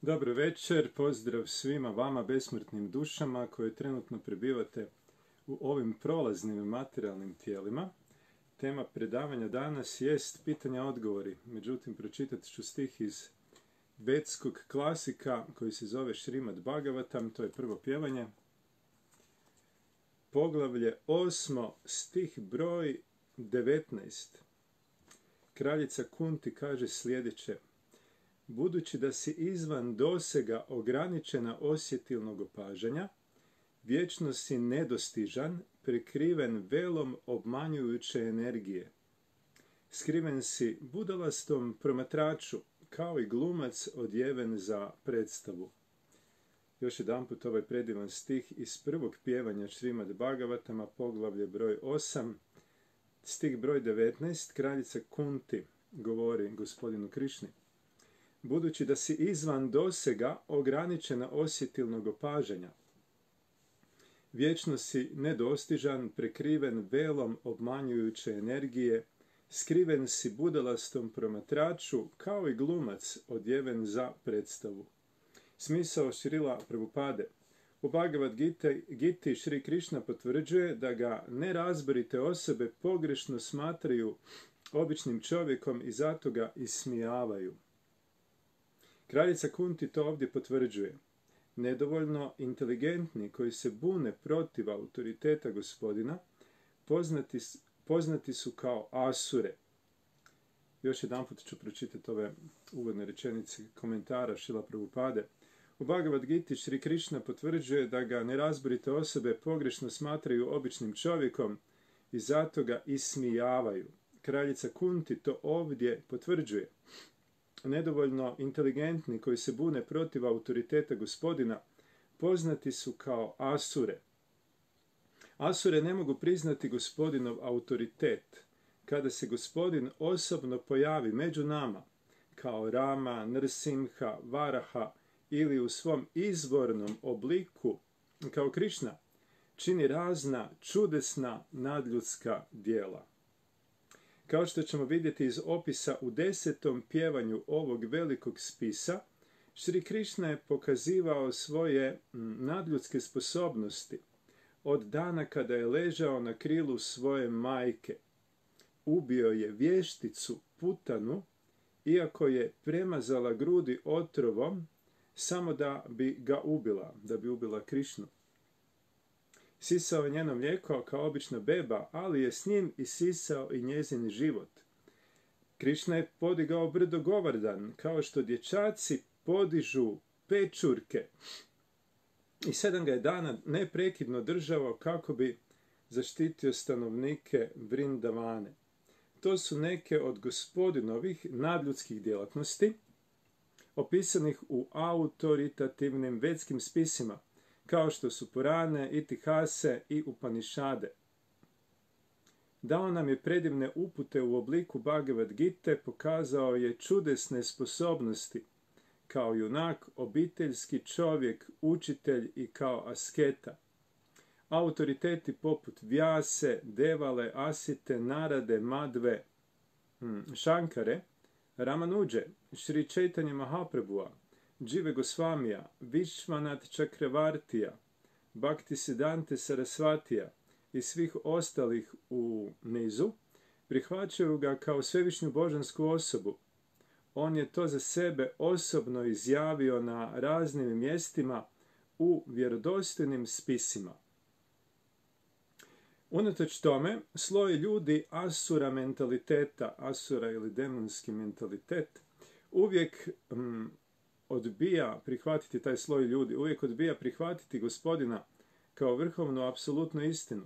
Dobro večer, pozdrav svima vama besmrtnim dušama koje trenutno prebivate u ovim prolaznim materijalnim tijelima. Tema predavanja danas jest pitanja-odgovori, međutim pročitat ću stih iz vedskog klasika koji se zove Šrimad Bhagavatam, to je prvo pjevanje. Poglavlje 8, stih broj 19. Kraljica Kunti kaže sljedeće: budući da si izvan dosega ograničena osjetilnog opažanja, vječno si nedostižan, prekriven velom obmanjujuće energije. Skriven si budalastom promatraču, kao i glumac odjeven za predstavu. Još jedanput ovaj predivan stih iz prvog pjevanja Šrimad Bhagavatama, poglavlje broj 8, stih broj 19, kraljica Kunti govori gospodinu Krišni: budući da si izvan dosega ograničena osjetilnog opažanja, vječno si nedostižan, prekriven velom obmanjujuće energije, skriven si budalastom promatraču, kao i glumac odjeven za predstavu. Smisao Šrila Prabhupade. U Bhagavad Giti Šri Krišna potvrđuje da ga nerazborite osobe pogrešno smatraju običnim čovjekom i zato ga ismijavaju. Kraljica Kunti to ovdje potvrđuje. Nedovoljno inteligentni koji se bune protiv autoriteta gospodina poznati su kao asure. Još jedanput ću pročitati ove uvodne rečenice komentara Šrila Prabhupade. U Bhagavad Giti Šri Krišna potvrđuje da ga nerazborite osobe pogrešno smatraju običnim čovjekom i zato ga ismijavaju. Kraljica Kunti to ovdje potvrđuje. Nedovoljno inteligentni koji se bune protiv autoriteta gospodina poznati su kao asure. Asure ne mogu priznati gospodinov autoritet. Kada se gospodin osobno pojavi među nama, kao Rama, Nrsimha, Varaha ili u svom izvornom obliku, kao Krišna, čini razna čudesna nadljudska djela. Kao što ćemo vidjeti iz opisa u 10. pjevanju ovog velikog spisa, Šri Krišna je pokazivao svoje nadljudske sposobnosti od dana kada je ležao na krilu svoje majke. Ubio je vješticu Putanu, iako je premazala grudi otrovom, samo da bi ga ubila, da bi ubila Krišnu. Sisao je njeno mlijeko kao obična beba, ali je s njim isisao i njezin život. Krišna je podigao brdo Govardan, kao što dječaci podižu pečurke. I 7 ga je dana neprekidno držao kako bi zaštitio stanovnike Vrindavane. To su neke od gospodinovih nadljudskih djelatnosti, opisanih u autoritativnim vedskim spisima, kao što su Purane, Itihase i Upanišade. Dao nam je predivne upute u obliku Bhagavad Gite, pokazao je čudesne sposobnosti, kao junak, obiteljski čovjek, učitelj i kao asketa. Autoriteti poput Vyase, Devale, Asite, Narade, Madve, Shankare, Ramanuđe, Šri Chaitanya Mahaprabhua, Džive Gosvamija, Višvanat Čakravartija, Bhaktisiddhanta Sarasvatija i svih ostalih u nizu, prihvaćaju ga kao svevišnju božansku osobu. On je to za sebe osobno izjavio na raznim mjestima u vjerodostojnim spisima. Unatoč tome, sloj ljudi asura mentaliteta, asura ili demonski mentalitet, uvijek odbija prihvatiti taj sloj ljudi, uvijek odbija prihvatiti gospodina kao vrhovnu apsolutnu istinu.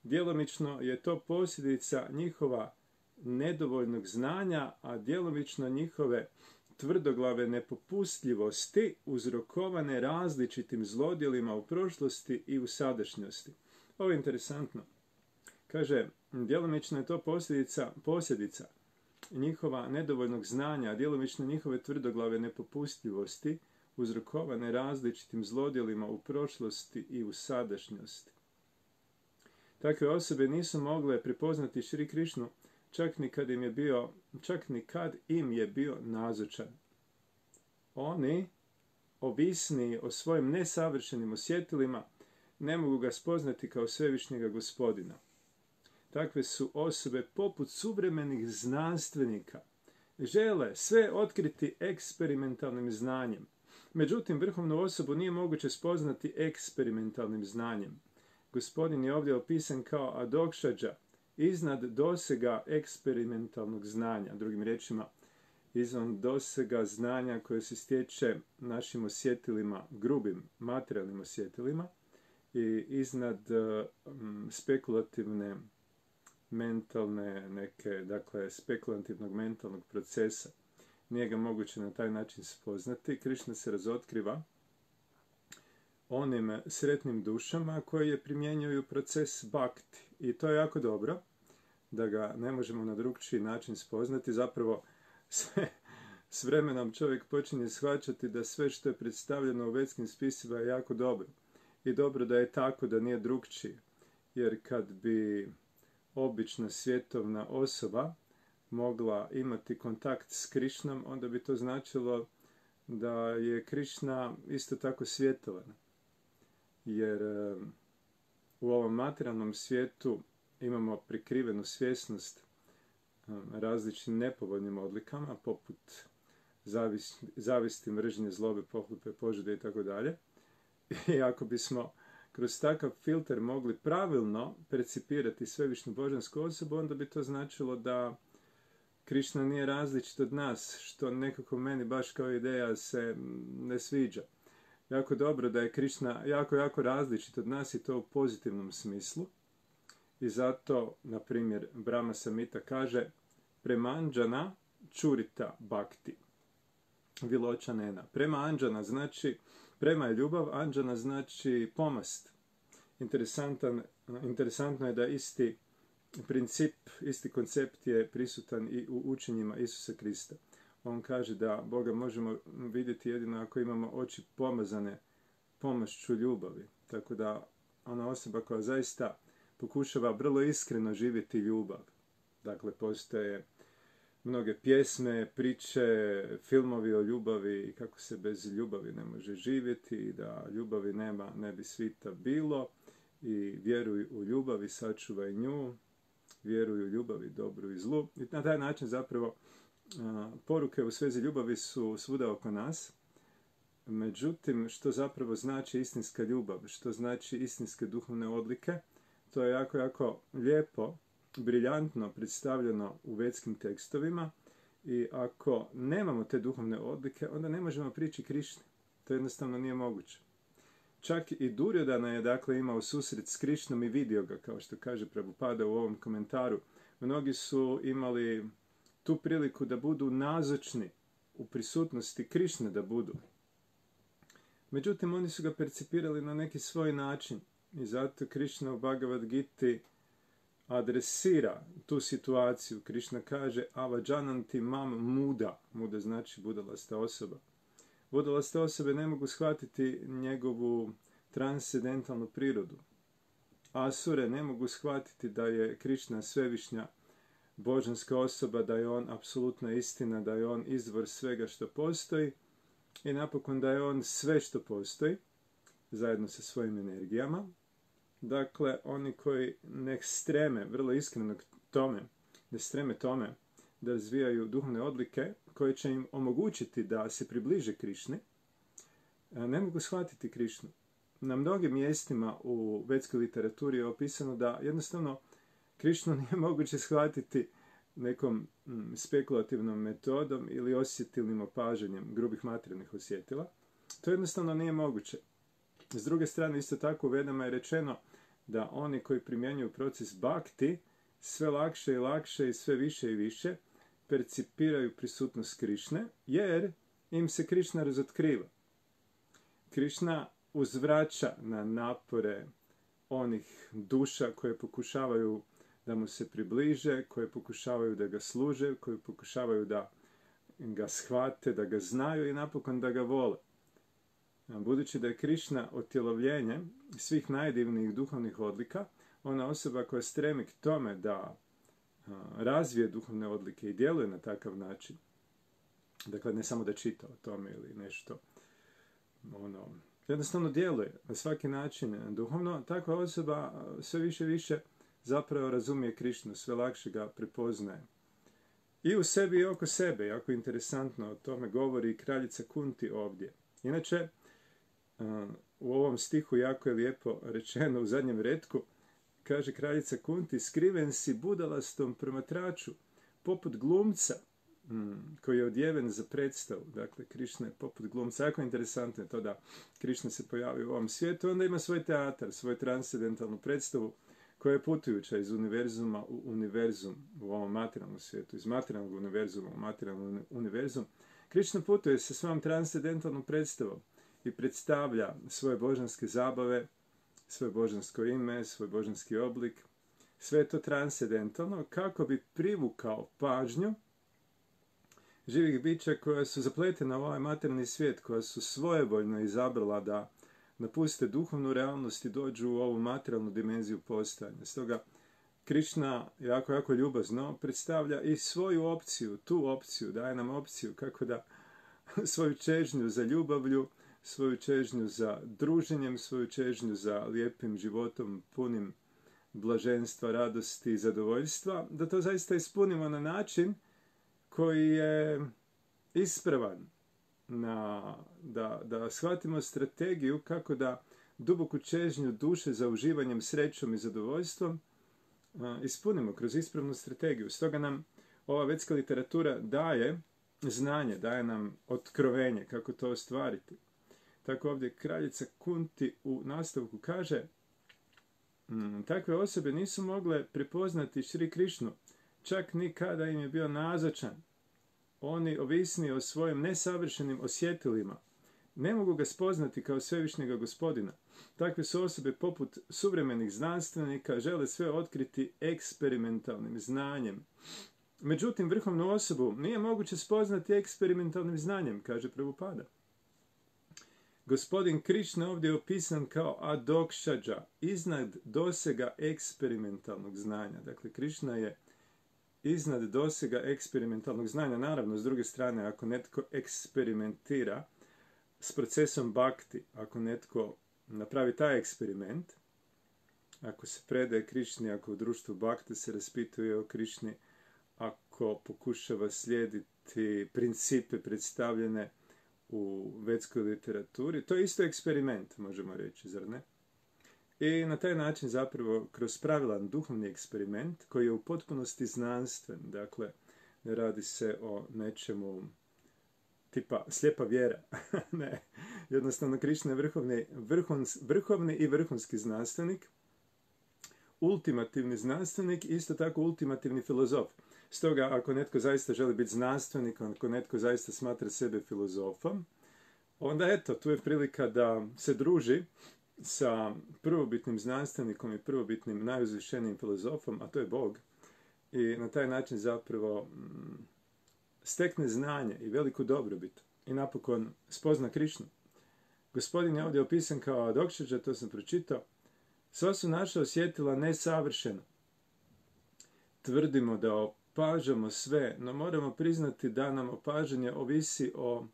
Djelomično je to posljedica njihova nedovoljnog znanja, a djelomično njihove tvrdoglave nepopustljivosti uzrokovane različitim zlodjelima u prošlosti i u sadašnjosti. Ovo je interesantno. Kaže, djelomično je to posljedica njihova nedovoljnog znanja, a djelomično njihove tvrdoglave nepopustljivosti uzrokovane različitim zlodjelima u prošlosti i u sadašnjosti. Takve osobe nisu mogle prepoznati Šri Krišnu čak ni kad im je bio nazočan. oni, ovisni o svojim nesavršenim osjetilima, ne mogu ga spoznati kao svevišnjega Gospodina. Takve su osobe poput suvremenih znanstvenika. Žele sve otkriti eksperimentalnim znanjem. Međutim, vrhovnu osobu nije moguće spoznati eksperimentalnim znanjem. Gospodin je ovdje opisan kao adokšađa, iznad dosega eksperimentalnog znanja. Drugim riječima, izvan dosega znanja koje se stječe našim osjetilima, grubim materijalnim osjetilima, i iznad spekulativne mentalne neke, dakle, spekulativnog mentalnog procesa. Nije ga moguće na taj način spoznati. Krišna se razotkriva onim sretnim dušama koje primjenjuju proces bhakti. I to je jako dobro, da ga ne možemo na drugčiji način spoznati. Zapravo, s vremenom čovjek počinje shvaćati da sve što je predstavljeno u vedskim spisima je jako dobro. I dobro da je tako, da nije drugčije. Jer kad bi obična svjetovna osoba mogla imati kontakt s Krišnom, onda bi to značilo da je Krišna isto tako svjetovan. Jer u ovom materijalnom svijetu imamo prikrivenu svjesnost različitim nepovoljnim odlikama, poput zavisti, mržnje, zlobe, pohlepe, požude i tako dalje. I ako bismo kroz takav filter mogli pravilno percipirati svevišnju božansku osobu, onda bi to značilo da Krišna nije različit od nas, što nekako meni baš kao ideja se ne sviđa. Jako dobro da je Krišna jako različit od nas i to u pozitivnom smislu. I zato, na primjer, Brahma Samhita kaže prema Anđana čurita bhakti. Viločanena. Prema Anđana znači, prema je ljubav, Anđana znači pomast. Interesantno je da isti princip, isti koncept je prisutan i u učenjima Isusa Krista. On kaže da Boga možemo vidjeti jedino ako imamo oči pomazane pomošću ljubavi. Tako da ona osoba koja zaista pokušava vrlo iskreno živjeti ljubav. Dakle, postoje mnoge pjesme, priče, filmovi o ljubavi i kako se bez ljubavi ne može živjeti i da ljubavi nema, ne bi svita bilo. I vjeruj u ljubav i sačuvaj nju, vjeruj u ljubav i dobru i zlu. I na taj način zapravo poruke u svezi ljubavi su svuda oko nas. Međutim, što zapravo znači istinska ljubav, što znači istinske duhovne odlike, to je jako lijepo, briljantno predstavljeno u vedskim tekstovima i ako nemamo te duhovne odlike, onda ne možemo prići Krišni. To jednostavno nije moguće. Čak i Duryodhana je dakle imao susret s Krišnom i vidio ga, kao što kaže Prabhupada u ovom komentaru. Mnogi su imali tu priliku da budu nazočni u prisutnosti Krišne da budu. Međutim, oni su ga percipirali na neki svoj način i zato Krišna u Bhagavad Giti adresira tu situaciju. Krišna kaže avajananti mam muda. Muda znači budalasta osoba. Budalaste osobe ne mogu shvatiti njegovu transcendentalnu prirodu. Asure ne mogu shvatiti da je Krišna svevišnja božanska osoba, da je on apsolutna istina, da je on izvor svega što postoji i napokon da je on sve što postoji, zajedno sa svojim energijama. Dakle, oni koji ne streme, vrlo iskreno tome, ne streme tome da razvijaju duhovne odlike koje će im omogućiti da se približe Krišni, ne mogu shvatiti Krišnu. Na mnogim mjestima u vedskoj literaturi je opisano da jednostavno Krišnu nije moguće shvatiti nekom spekulativnom metodom ili osjetilnim opažanjem grubih materijalnih osjetila. To jednostavno nije moguće. S druge strane, isto tako u Vedama je rečeno da oni koji primjenjuju proces bhakti sve lakše i lakše i sve više i više percipiraju prisutnost Krišne, jer im se Krišna razotkriva. Krišna uzvraća na napore onih duša koje pokušavaju da mu se približe, koje pokušavaju da ga služe, koje pokušavaju da ga shvate, da ga znaju i napokon da ga vole. Budući da je Krišna otjelovljenje svih najdivnijih duhovnih odlika, ona osoba koja stremi k tome da razvije duhovne odlike i djeluje na takav način, Dakle, ne samo da čita o tome ili nešto, jednostavno djeluje na svaki način duhovno. Takva osoba sve više i više zapravo razumije Krišnu, sve lakše ga prepoznaje. I u sebi i oko sebe, jako interesantno, o tome govori kraljica Kunti ovdje. Inače, u ovom stihu jako je lijepo rečeno u zadnjem retku, kaže kraljica Kunti, skriven si budalastom promatraču, poput glumca koji je odjeven za predstavu. Dakle, Krišna je poput glumca. Jako interesantno je to da Krišna se pojavi u ovom svijetu. Onda ima svoj teatar, svoju transcendentalnu predstavu koja je putujuća iz univerzuma u univerzum u ovom materijalnom svijetu, iz materijalnog univerzuma u materijalnom univerzum. Krišna putuje sa svojom transcendentalnom predstavom i predstavlja svoje božanske zabave, svoje božansko ime, svoj božanski oblik. Sve je to transcendentalno kako bi privukao pažnju živih bića koja su zapletena u ovaj materijalni svijet, koja su svojevoljno izabrala da napuste duhovnu realnost i dođu u ovu materijalnu dimenziju postojanja. Stoga Krišna jako ljubazno predstavlja i svoju opciju, tu opciju, daje nam opciju kako da svoju čežnju za ljubavlju, svoju čežnju za druženjem, svoju čežnju za lijepim životom, punim blaženstva, radosti i zadovoljstva, da to zaista ispunimo na način koji je ispravan, da shvatimo strategiju kako da duboku čežnju duše za uživanjem, srećom i zadovoljstvom ispunimo kroz ispravnu strategiju. Stoga nam ova vedska literatura daje znanje, daje nam otkrovenje kako to ostvariti. Tako ovdje kraljica Kunti u nastavku kaže, takve osobe nisu mogle prepoznati Šri Krišnu, čak ni kada im je bio nazočan. Oni, ovisni o svojim nesavršenim osjetilima, ne mogu ga spoznati kao svevišnjega gospodina. Takve su osobe poput suvremenih znanstvenika, žele sve otkriti eksperimentalnim znanjem. Međutim, vrhovnu osobu nije moguće spoznati eksperimentalnim znanjem, kaže Prabhupada. Gospodin Krišna ovdje je opisan kao adokšadža, iznad dosega eksperimentalnog znanja. Dakle, Krišna je iznad dosega eksperimentalnog znanja. Naravno, s druge strane, ako netko eksperimentira s procesom bhakti, ako netko napravi taj eksperiment, ako se predaje Krišni, ako u društvu bhakti se raspituje o Krišni, ako pokušava slijediti principe predstavljene u vedskoj literaturi, to je isto eksperiment, možemo reći, zar ne? I na taj način zapravo kroz pravilan duhovni eksperiment koji je u potpunosti znanstven, dakle ne radi se o nečemu tipa slijepa vjera, ne, jednostavno Krišna je vrhovni i vrhunski znanstvenik, ultimativni znanstvenik, isto tako ultimativni filozof. Stoga, ako netko zaista želi biti znanstvenik, ako netko zaista smatra sebe filozofom, onda eto, tu je prilika da se druži sa prvobitnim znanstvenikom i prvobitnim najuzvišenijim filozofom, a to je Bog. I na taj način zapravo stekne znanje i veliku dobrobit. I napokon spozna Krišnu. Gospodin je ovdje opisan kao adokšadža, to sam pročitao. Sva su naša osjetila nesavršeno. Tvrdimo da opažamo sve, no moramo priznati da nam opažanje ovisi o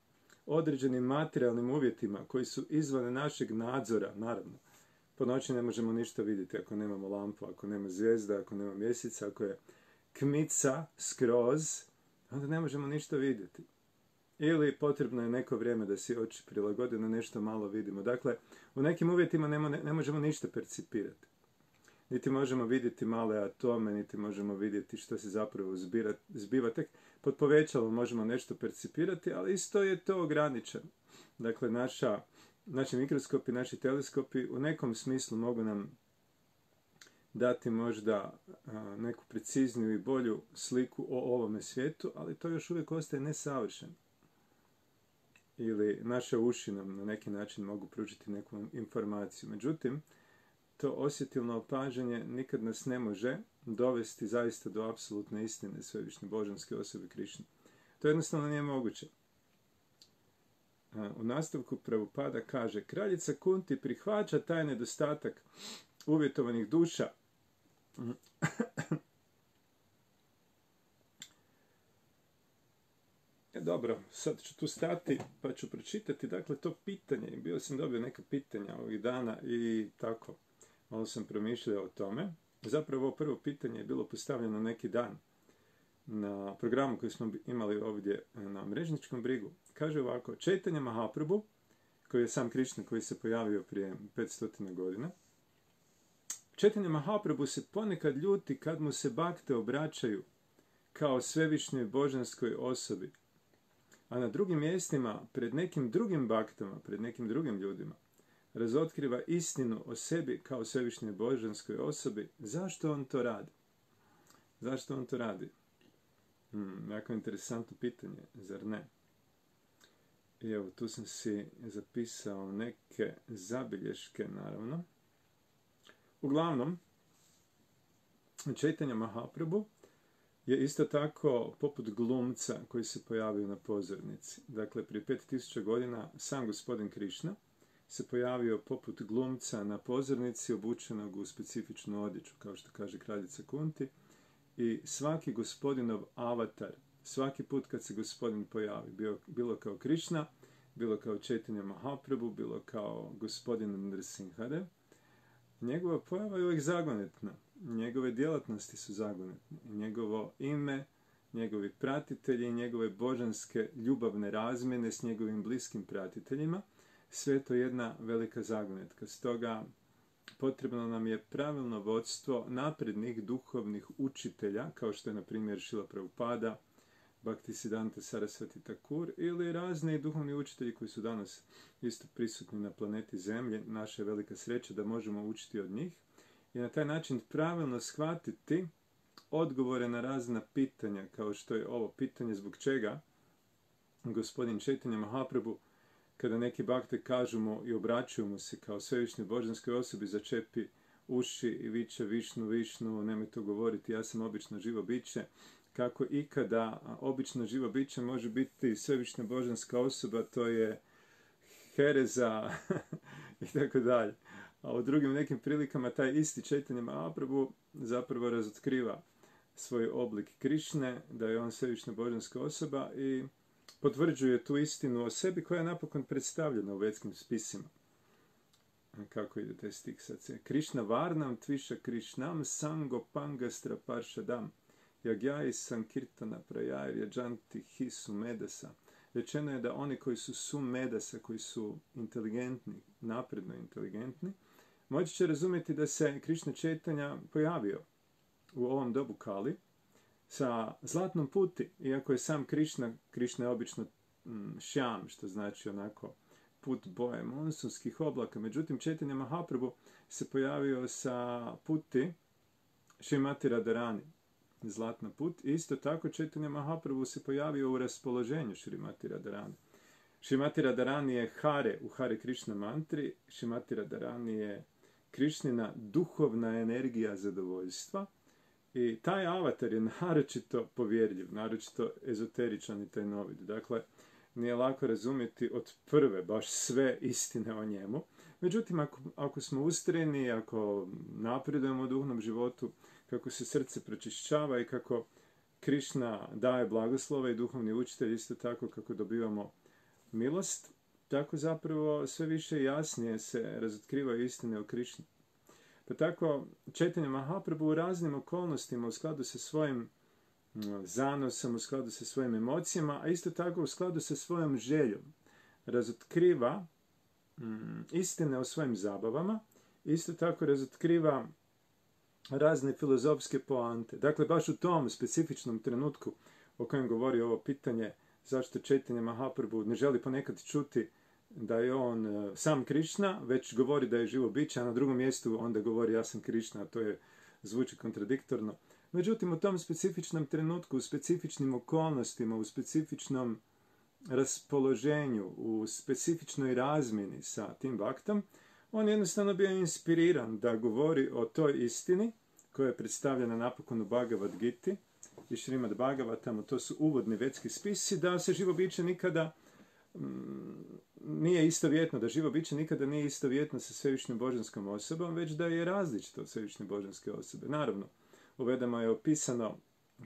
određenim materijalnim uvjetima koji su izvan našeg nadzora, naravno. Po noći ne možemo ništa vidjeti ako nemamo lampu, ako nema zvijezda, ako nema mjeseca, ako je kmica skroz, onda ne možemo ništa vidjeti. Ili potrebno je neko vrijeme da si oči prilagode, na nešto malo vidimo. Dakle, u nekim uvjetima ne možemo ništa percipirati. Niti možemo vidjeti male atome, niti možemo vidjeti što se zapravo zbiva. Tek pod povećalom možemo nešto percipirati, ali isto je to ograničeno. Dakle, naši mikroskopi, naši teleskopi u nekom smislu mogu nam dati možda neku precizniju i bolju sliku o ovome svijetu, ali to još uvijek ostaje nesavršeno. Ili naše uši nam na neki način mogu pružiti neku informaciju. Međutim, to osjetilno opažanje nikad nas ne može dovesti zaista do apsolutne istine svevišnje božanske osobe Krišne. To jednostavno nije moguće. U nastavku Prabhupada kaže, kraljica Kunti prihvaća taj nedostatak uvjetovanih duša dobro, sad ću tu stati pa ću pročitati, dakle, to pitanje. Bio sam dobio neka pitanja ovih dana i tako, malo sam promišljao o tome. Zapravo, ovo prvo pitanje je bilo postavljeno neki dan na programu koji smo imali ovdje na Mrežničkom brigu. Kaže ovako, Chaitanya Mahaprabhu, koji je sam Krišna, koji se pojavio prije 500 godina, Chaitanya Mahaprabhu se ponekad ljuti kad mu se bakte obraćaju kao svevišnjoj božanskoj osobi, a na drugim mjestima, pred nekim drugim baktama, pred nekim drugim ljudima, razotkriva istinu o sebi kao svevišnjoj božanskoj osobi. Zašto on to radi? Zašto on to radi? Jako interesantno pitanje, zar ne? I evo, tu sam si zapisao neke zabilješke, naravno. Uglavnom, Chaitanya Mahaprabhu je isto tako poput glumca koji se pojavio na pozornici. Dakle, prije 5000 godina sam gospodin Krišna se pojavio poput glumca na pozornici, obučenog u specifičnu odjeću, kao što kaže kraljica Kunti. I svaki gospodinov avatar, svaki put kad se gospodin pojavi, bilo kao Krišna, bilo kao Chaitanya Mahaprabhu, bilo kao gospodin Nrsimhadev, njegova pojava je uvijek zagonetna. Njegove djelatnosti su zagonetne. Njegovo ime, njegovi pratitelji, njegove božanske ljubavne razmjene s njegovim bliskim pratiteljima, sve to jedna velika zagonetka. Stoga potrebno nam je pravilno vodstvo naprednih duhovnih učitelja, kao što je na primjer Šrila Prabhupada, Bhaktisiddhanta Sarasvati Thakur ili razni duhovni učitelji koji su danas isto prisutni na planeti Zemlje. Naša je velika sreća da možemo učiti od njih i na taj način pravilno shvatiti odgovore na razna pitanja, kao što je ovo pitanje zbog čega gospodin Chaitanya Mahaprabhu, kada neki bakte kažu mu i obraćaju mu se kao svevišnjoj božanskoj osobi, začepi uši i viče Višnu, Višnu, nemoj to govoriti, ja sam obično živo biće. Kako ikada obično živo biće može biti svevišnja božanska osoba, to je hereza i tako dalje. A u drugim nekim prilikama taj isti Chaitanya Mahaprabhu zapravo razotkriva svoj oblik Krišne, da je on svevišnja božanska osoba i potvrđuje tu istinu o sebi koja je napokon predstavljena u vedskim spisima. Kako ide taj stih sad se? Krišna varnam tviša Krišnam sango pangastra paršadam jagjai sankirtana prajai vjajanti hi sumedasa. Rečeno je da oni koji su sumedasa, koji su inteligentni, napredno inteligentni, moći će razumjeti da se Krišna Chaitanya pojavio u ovom dobu Kali sa zlatnom puti, iako je sam Krišna je obično šjam, što znači onako put boje monsunskih oblaka. Međutim, Chaitanya Mahaprabhu se pojavio sa puti Šrimati Radharani, zlatna put. Isto tako Chaitanya Mahaprabhu se pojavio u raspoloženju Šrimati Radharani. Šrimati Radharani je Hare u Hare Krishna mantri. Šrimati Radharani je Krišnina duhovna energija zadovoljstva. I taj avatar je naročito povjerljiv, naročito ezoteričan i tajnovit. Dakle, nije lako razumjeti od prve baš sve istine o njemu. Međutim, ako smo ustrajni, ako napredujemo u duhovnom životu, kako se srce pročišćava i kako Krišna daje blagoslove i duhovni učitelj, isto tako kako dobivamo milost, tako zapravo sve više i jasnije se razotkrivaju istine o Krišni. Pa tako, Chaitanya Mahaprabhu u raznim okolnostima, u skladu sa svojim zanosom, u skladu sa svojim emocijama, a isto tako u skladu sa svojom željom, razotkriva istine o svojim zabavama, isto tako razotkriva razne filozofske poante. Dakle, baš u tom specifičnom trenutku o kojem govori ovo pitanje, zašto Chaitanya Mahaprabhu ne želi ponekad čuti da je on sam Krišna, već govori da je živo biće, a na drugom mjestu onda govori ja sam Krišna, a to je zvuči kontradiktorno. Međutim, u tom specifičnom trenutku, u specifičnim okolnostima, u specifičnom raspoloženju, u specifičnoj razmjeni sa tim baktom, on jednostavno bio inspiriran da govori o toj istini koja je predstavljena napokon u Bhagavad Giti i Šrimad Bhagavatamu, to su uvodni vedski spisi, da se živo biće nikada nije istovjetno, da živo biće nikada nije istovjetno sa svevišnjom božanskom osobom, već da je različito od svevišnje božanske osobe. Naravno, u Vedama je opisano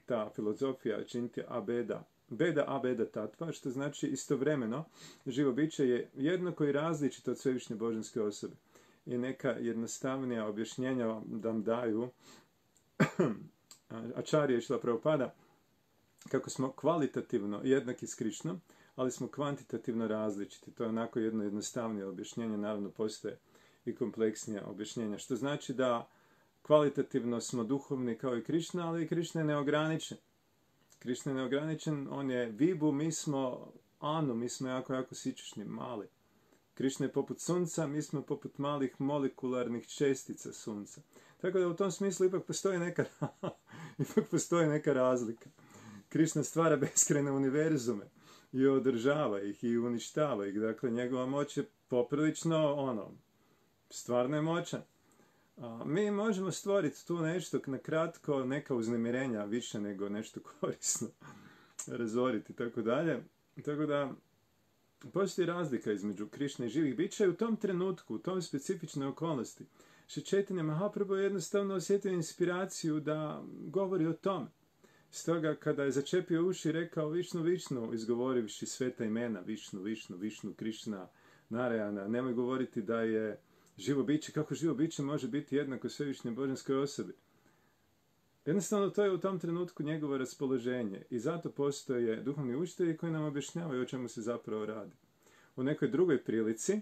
ta filozofija Čintya Abeda, beda a beda tatva, što znači istovremeno živo biće je jednako i različito od svevišnje božanske osobe. I neka jednostavnija objašnjenja vam daju Ačarija i Šrila Prabhupada, kako smo kvalitativno jednaki s Krišnom, ali smo kvantitativno različiti. To je onako jedno jednostavnije objašnjenje, naravno postoje i kompleksnija objašnjenja, što znači da kvalitativno smo duhovni kao i Krišna, ali i Krišna je neograničen. Krišna je neograničen, on je vibu, mi smo anu, mi smo jako sičešni, mali. Krišna je poput sunca, mi smo poput malih molekularnih čestica sunca. Tako da u tom smislu ipak postoji neka razlika. Krišna stvara beskrajne univerzume i održava ih i uništava ih. Dakle, njegova moć je poprilično, stvarno je moćan. Mi možemo stvoriti tu nešto na kratko, neka uznemirenja više nego nešto korisno razoriti, tako dalje. Tako da, postoji razlika između Krišne i živih bića i u tom trenutku, u tom specifičnoj okolnosti, Šri Chaitanya Mahaprabhu je jednostavno osjetio inspiraciju da govori o tome. Stoga, kada je začepio uši i rekao Višnu, Višnu, izgovorivši sveta imena, Višnu, Višnu, Višnu, Krišna, Narayana, nemoj govoriti da je živo biće, kako živo biće može biti jednako svevišnjoj božanskoj osobi. Jednostavno, to je u tom trenutku njegovo raspoloženje i zato postoje duhovni učitelji koji nam objašnjavaju o čemu se zapravo radi. U nekoj drugoj prilici,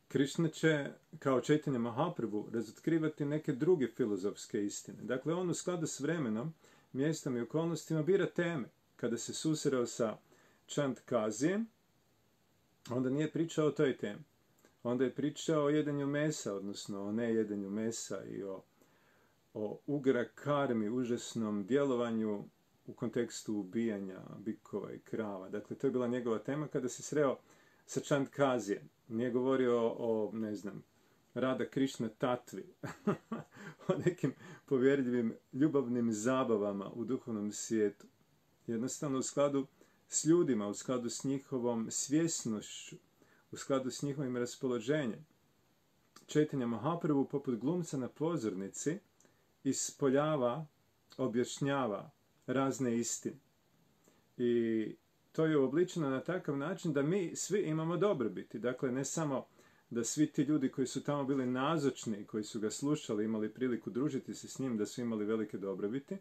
Krišna će, kao Chaitanya Mahaprabhu, razotkrivati neke druge filozofske istine. Dakle, on u skladu s vremenom, mjestom i okolnostima bira teme. Kada se susreo sa Chandkazijem, onda nije pričao o toj temi. Onda je pričao o jedenju mesa, odnosno o nejedenju mesa i o ugra karmi, užasnom djelovanju u kontekstu ubijanja bikova i krava. Dakle, to je bila njegova tema kada se sreo sa Chandkazijem. Nije govorio o, Rada Krišna tatvi, o nekim povjerljivim ljubavnim zabavama u duhovnom svijetu. Jednostavno u skladu s ljudima, u skladu s njihovom svjesnošću, u skladu s njihovim raspoloženjem. Chaitanya Mahaprabhu poput glumca na pozornici ispoljava, objašnjava razne istine. I to je uobličeno na takav način da mi svi imamo dobrobiti. Dakle, ne samo da svi ti ljudi koji su tamo bili nazočni, koji su ga slušali, imali priliku družiti se s njim, da su imali velike dobrobiti,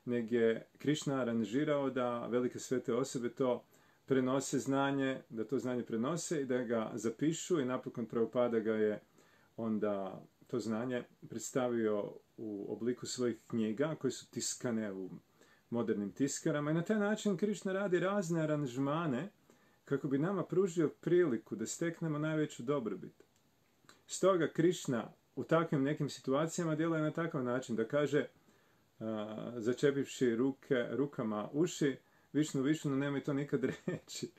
nego je Krišna aranžirao da velike svete osobe to prenose znanje, da to znanje prenose i da ga zapišu i napokon Prabhupada ga je onda to znanje predstavio u obliku svojih knjiga koje su tiskane u modernim tiskarama i na taj način Krišna radi razne aranžmane kako bi nama pružio priliku da steknemo najveću dobrobit. Stoga Krišna u takvim nekim situacijama djeluje na takav način da kaže, začepivši rukama uši, Višnu, Višnu, nemoj to nikad reći,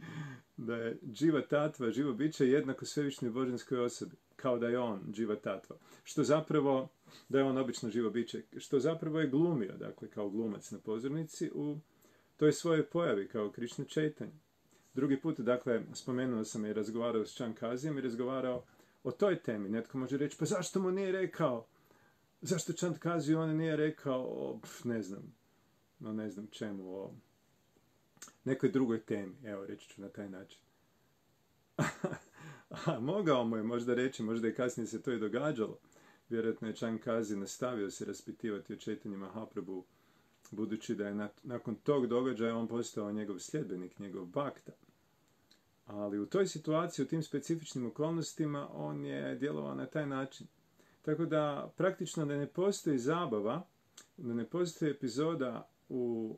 da je dživa tatva, živo biće jednako svevišnjoj božanskoj osobi, kao da je on dživa tatva. Što zapravo, da je on obično živo biće, što zapravo je glumio, dakle, kao glumac na pozornici u toj svojoj pojavi, kao Krišna Chaitanya. Drugi put, dakle, spomenuo sam i razgovarao s Chandkazijem i razgovarao o toj temi. Netko može reći, pa zašto mu nije rekao, zašto Chandkaziju on nije rekao, ne znam čemu, o nekoj drugoj temi, evo, reći ću na taj način. Mogao mu je možda reći, možda i kasnije se to i događalo. Vjerojatno je Chandkazi nastavio se raspitivati o Chaitanya Mahaprabhu, budući da je nakon tog događaja on postao njegov sljedbenik, njegov bhakta. Ali u toj situaciji, u tim specifičnim okolnostima, on je djelovao na taj način. Tako da, praktično da ne postoji zabava, da ne postoji epizoda u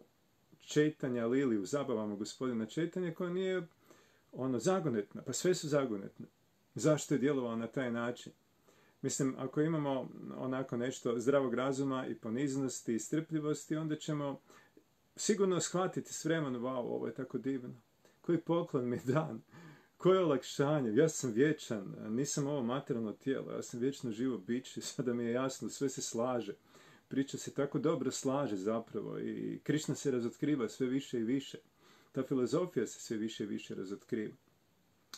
Chaitanya Lili, u zabavama gospodina Chaitanya, koja nije zagonetna, pa sve su zagonetne. Zašto je djelovao na taj način? Mislim, ako imamo onako nešto zdravog razuma i poniznosti i strpljivosti, onda ćemo sigurno shvatiti s vremenom, wow, ovo je tako divno. Koji poklon mi je dan, koje olakšanje, ja sam vječan, nisam ovo materijalno tijelo, ja sam vječno živo biće, sada mi je jasno, sve se slaže. Priča se tako dobro slaže zapravo i Krišna se razotkriva sve više i više. Ta filozofija se sve više i više razotkriva.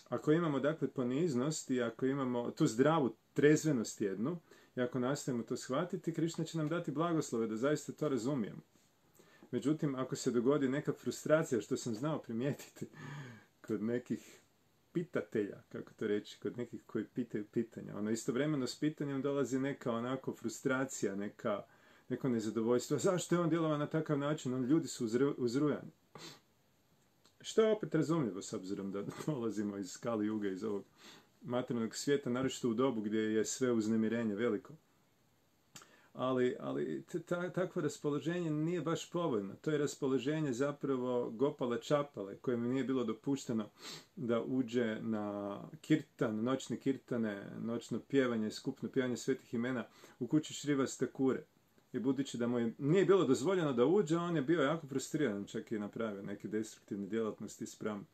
Ako imamo dakle poniznost i ako imamo tu zdravu trezvenost jednu, i ako nastavimo to shvatiti, Krišna će nam dati blagoslove da zaista to razumijemo. Međutim, ako se dogodi neka frustracija, što sam znao primijetiti kod nekih pitatelja, kako to reći, kod nekih koji pitaju pitanja. Istovremeno s pitanjem dolazi neka onako frustracija, neko nezadovoljstvo. Zašto je on djelovao na takav način? Ljudi su uzrujani. Što je opet razumljivo, s obzirom da dolazimo iz Kali Juga, iz ovog materijalnog svijeta, naročito u dobu gdje je sve uznemirenje veliko. Ali takvo raspoloženje nije baš povoljno. To je raspoloženje zapravo Gopala Čapale, kojemu nije bilo dopušteno da uđe na kirtan, noćne kirtane, noćno pjevanje, skupno pjevanje svetih imena u kući Šrivas Thakure. I budući da mu nije bilo dozvoljeno da uđe, on je bio jako frustriran, čak i napravio neke destruktivne djelatnosti spram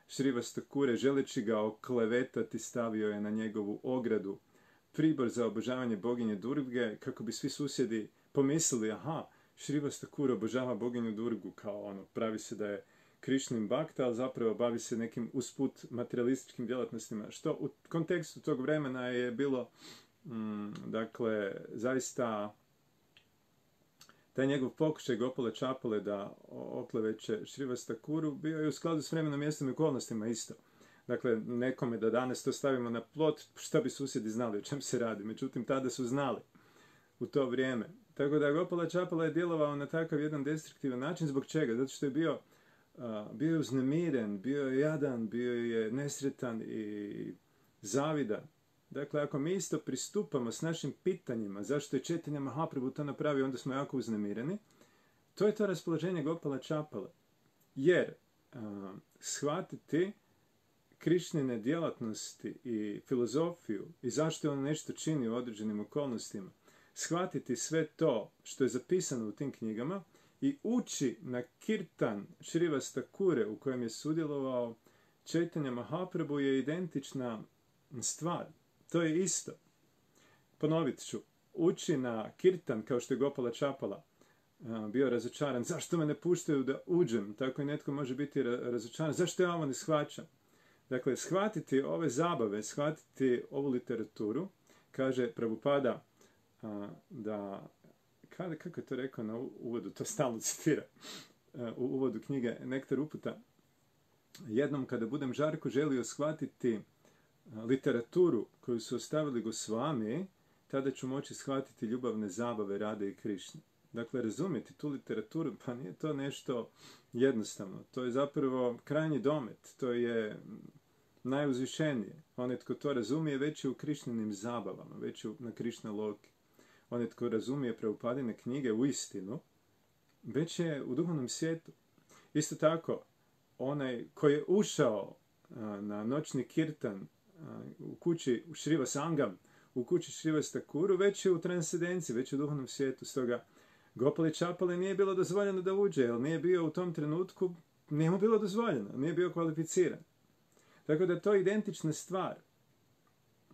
Šrivas Thakure, želeći ga oklevetati, stavio je na njegovu ogradu pribor za obožavanje boginje Durge, kako bi svi susjedi pomislili, aha, Šrivas Thakure obožava boginju Durgu, kao pravi se da je Krišnin bakta, ali zapravo bavi se nekim usput materialističkim djelatnostima, što u kontekstu tog vremena je bilo, dakle, zaista taj njegov pokušaj Gopala Čapale da okleveće Šrivas Thakuru bio je u skladu s vremenom, mjestom i okolnostima isto. Dakle, nekome da danas to stavimo na plot, šta bi susjedi znali o čem se radi. Međutim, tada su znali u to vrijeme. Tako da Gopala Čapala je djelovao na takav jedan destruktivan način. Zbog čega? Zato što je bio je uznemiren, bio je jadan, bio je nesretan i zavidan. Dakle, ako mi isto pristupamo s našim pitanjima zašto je Chaitanya Mahaprabhu to napravio, onda smo jako uznemireni. To je to raspoloženje Gopala Čapale. Jer shvatiti Krišnine djelatnosti i filozofiju i zašto on nešto čini u određenim okolnostima, shvatiti sve to što je zapisano u tim knjigama i ući na kirtan Šrivas Thakure u kojem je sudjelovao Chaitanya Mahaprabhu je identična stvar. To je isto. Ponovit ću. Ući na kirtan kao što je Gopala Čapala bio razočaran. Zašto me ne puštaju da uđem? Tako i netko može biti razočaran. Zašto ja ovo ne shvaćam? Dakle, shvatiti ove zabave, shvatiti ovu literaturu, kaže Prabhupada da, kako je to rekao na uvodu, to stalno citira, u uvodu knjige Nektar uputa, jednom kada budem žarko želio shvatiti literaturu koju su ostavili Gosvami, tada ću moći shvatiti ljubavne zabave Rade i Krišne. Dakle, razumjeti tu literaturu, pa nije to nešto jednostavno. To je zapravo krajnji domet. To je najuzvišenije. Onaj tko to razumije već je u Krišninim zabavama, već je na Krišna Loki. Onaj tko razumije Prabhupadine knjige u istinu, već je u duhovnom svijetu. Isto tako, onaj koji je ušao na noćni kirtan u kući u Šriva Sangam, u kući Šrivas Thakuru, već je u transcendenciji, već je u duhovnom svijetu. Stoga Gopali Čapale nije bilo dozvoljeno da uđe, jer nije bio u tom trenutku, nije mu bilo dozvoljeno, nije bio kvalificiran. Tako da to je identična stvar.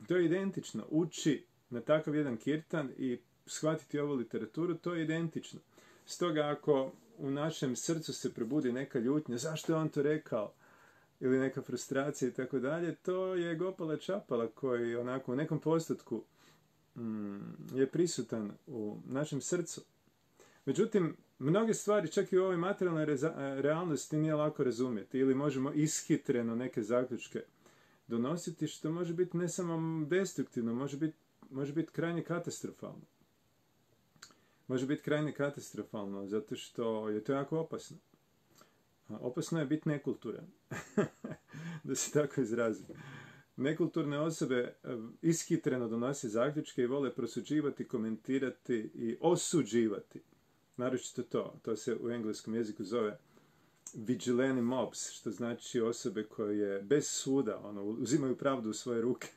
To je identično. Uči na takav jedan kirtan i shvatiti ovu literaturu, to je identično. Stoga ako u našem srcu se probudi neka ljutnja, zašto je on to rekao, ili neka frustracija i tako dalje, to je Gopala Čapala koji onako u nekom postotku je prisutan u našem srcu. Međutim, mnoge stvari, čak i u ovoj materijalnoj realnosti, nije lako razumjeti ili možemo ishitreno neke zaključke donositi, što može biti ne samo destruktivno, može biti krajnje katastrofalno. Može biti krajnje katastrofalno, zato što je to jako opasno. Opasno je biti nekulturan, da se tako izrazim. Nekulturne osobe ishitreno donose zaključke i vole prosuđivati, komentirati i osuđivati. Naročito to se u engleskom jeziku zove vigilante mobs, što znači osobe koje bez suda uzimaju pravdu u svoje ruke.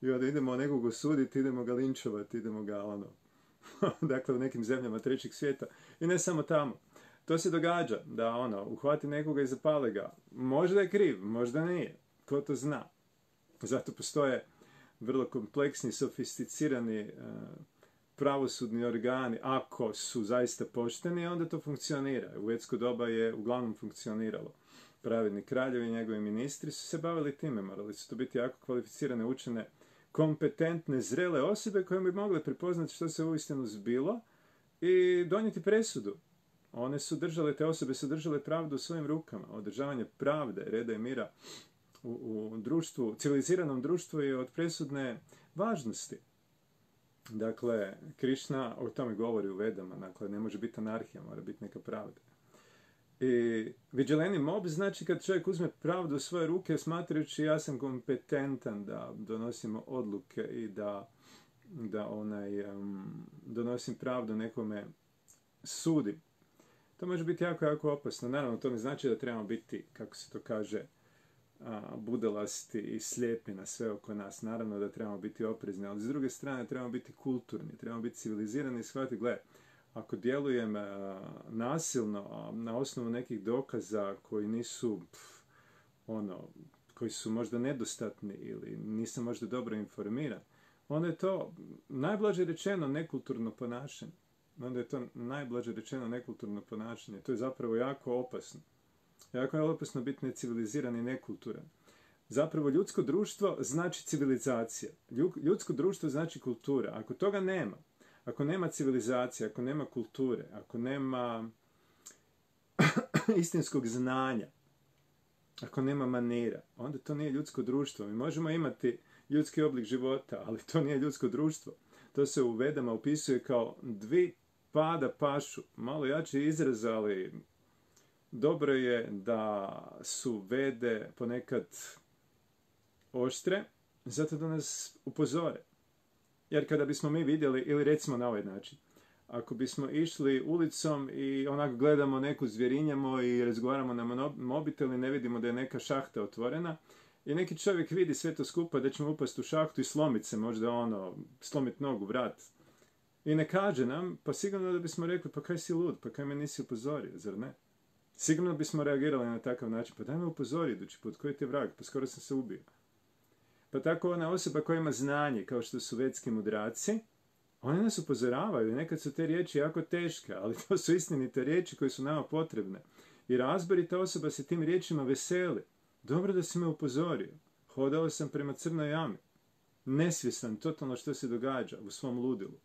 I onda idemo nekog osuditi, idemo ga linčovati, idemo ga dakle u nekim zemljama trećeg svijeta. I ne samo tamo. To se događa da uhvati nekoga i zapale ga. Možda je kriv, možda nije. Ko to zna? Zato postoje vrlo kompleksni, sofisticirani pravosudni organi. Ako su zaista pošteni, onda to funkcionira. U vedsko doba je uglavnom funkcioniralo. Pravedni kraljevi i njegovi ministri su se bavili time. Morali su to biti jako kvalificirane, učene, kompetentne, zrele osobe koje bi mogle prepoznati što se uistinu zbilo i donijeti presudu. Te osobe su držale pravdu u svojim rukama. Održavanje pravde, reda i mira u društvu, civiliziranom društvu je od presudne važnosti. Dakle, Krišna o tome govori u Vedama, dakle, ne može biti anarhija, mora biti neka pravda. I vigileni mob znači kad čovjek uzme pravdu u svoje ruke smatrajući ja sam kompetentan da donosimo odluke i da donosim pravdu nekome sudim. To može biti jako, jako opasno. Naravno, to ne znači da trebamo biti, kako se to kaže, budalasti i slijepi na sve oko nas. Naravno da trebamo biti oprezni, ali s druge strane trebamo biti kulturni, trebamo biti civilizirani i shvatiti, gle, ako djelujem nasilno na osnovu nekih dokaza koji nisu, koji su možda nedostatni ili nisam možda dobro informiran, onda je to najblaže rečeno nekulturno ponašanje. To je zapravo jako opasno. Jako je opasno biti neciviliziran i nekulturan. Zapravo ljudsko društvo znači civilizacija. Ljudsko društvo znači kultura. Ako toga nema, ako nema civilizacije, ako nema kulture, ako nema istinskog znanja, ako nema manira, onda to nije ljudsko društvo. Mi možemo imati ljudski oblik života, ali to nije ljudsko društvo. To se u Vedama opisuje kao dvi pada pašu. Malo jači izraz, ali dobro je da su Vede ponekad oštre, zato da nas upozore. Jer kada bismo mi vidjeli, ili recimo na ovaj način, ako bismo išli ulicom i onako gledamo neku zvjerinjamo i razgovaramo na mobitel i ne vidimo da je neka šahta otvorena, i neki čovjek vidi sve to skupa da ćemo upasti u šahtu i slomiti se, možda slomiti nogu, vrat. I ne kaže nam, pa sigurno da bismo rekli, pa kaj si lud, pa kaj me nisi upozorio, zar ne? Sigurno bismo reagirali na takav način, pa daj me upozori idući put, koji ti je vrag, pa skoro sam se ubio. Pa tako ona osoba koja ima znanje, kao što su vedski mudraci, oni nas upozoravaju, nekad su te riječi jako teške, ali to su istinite riječi koje su nama potrebne. I razborita osoba se tim riječima veseli. Dobro da si me upozorio. Hodao sam prema crnoj jami. Nesvjestan totalno što se događa u svom ludilu.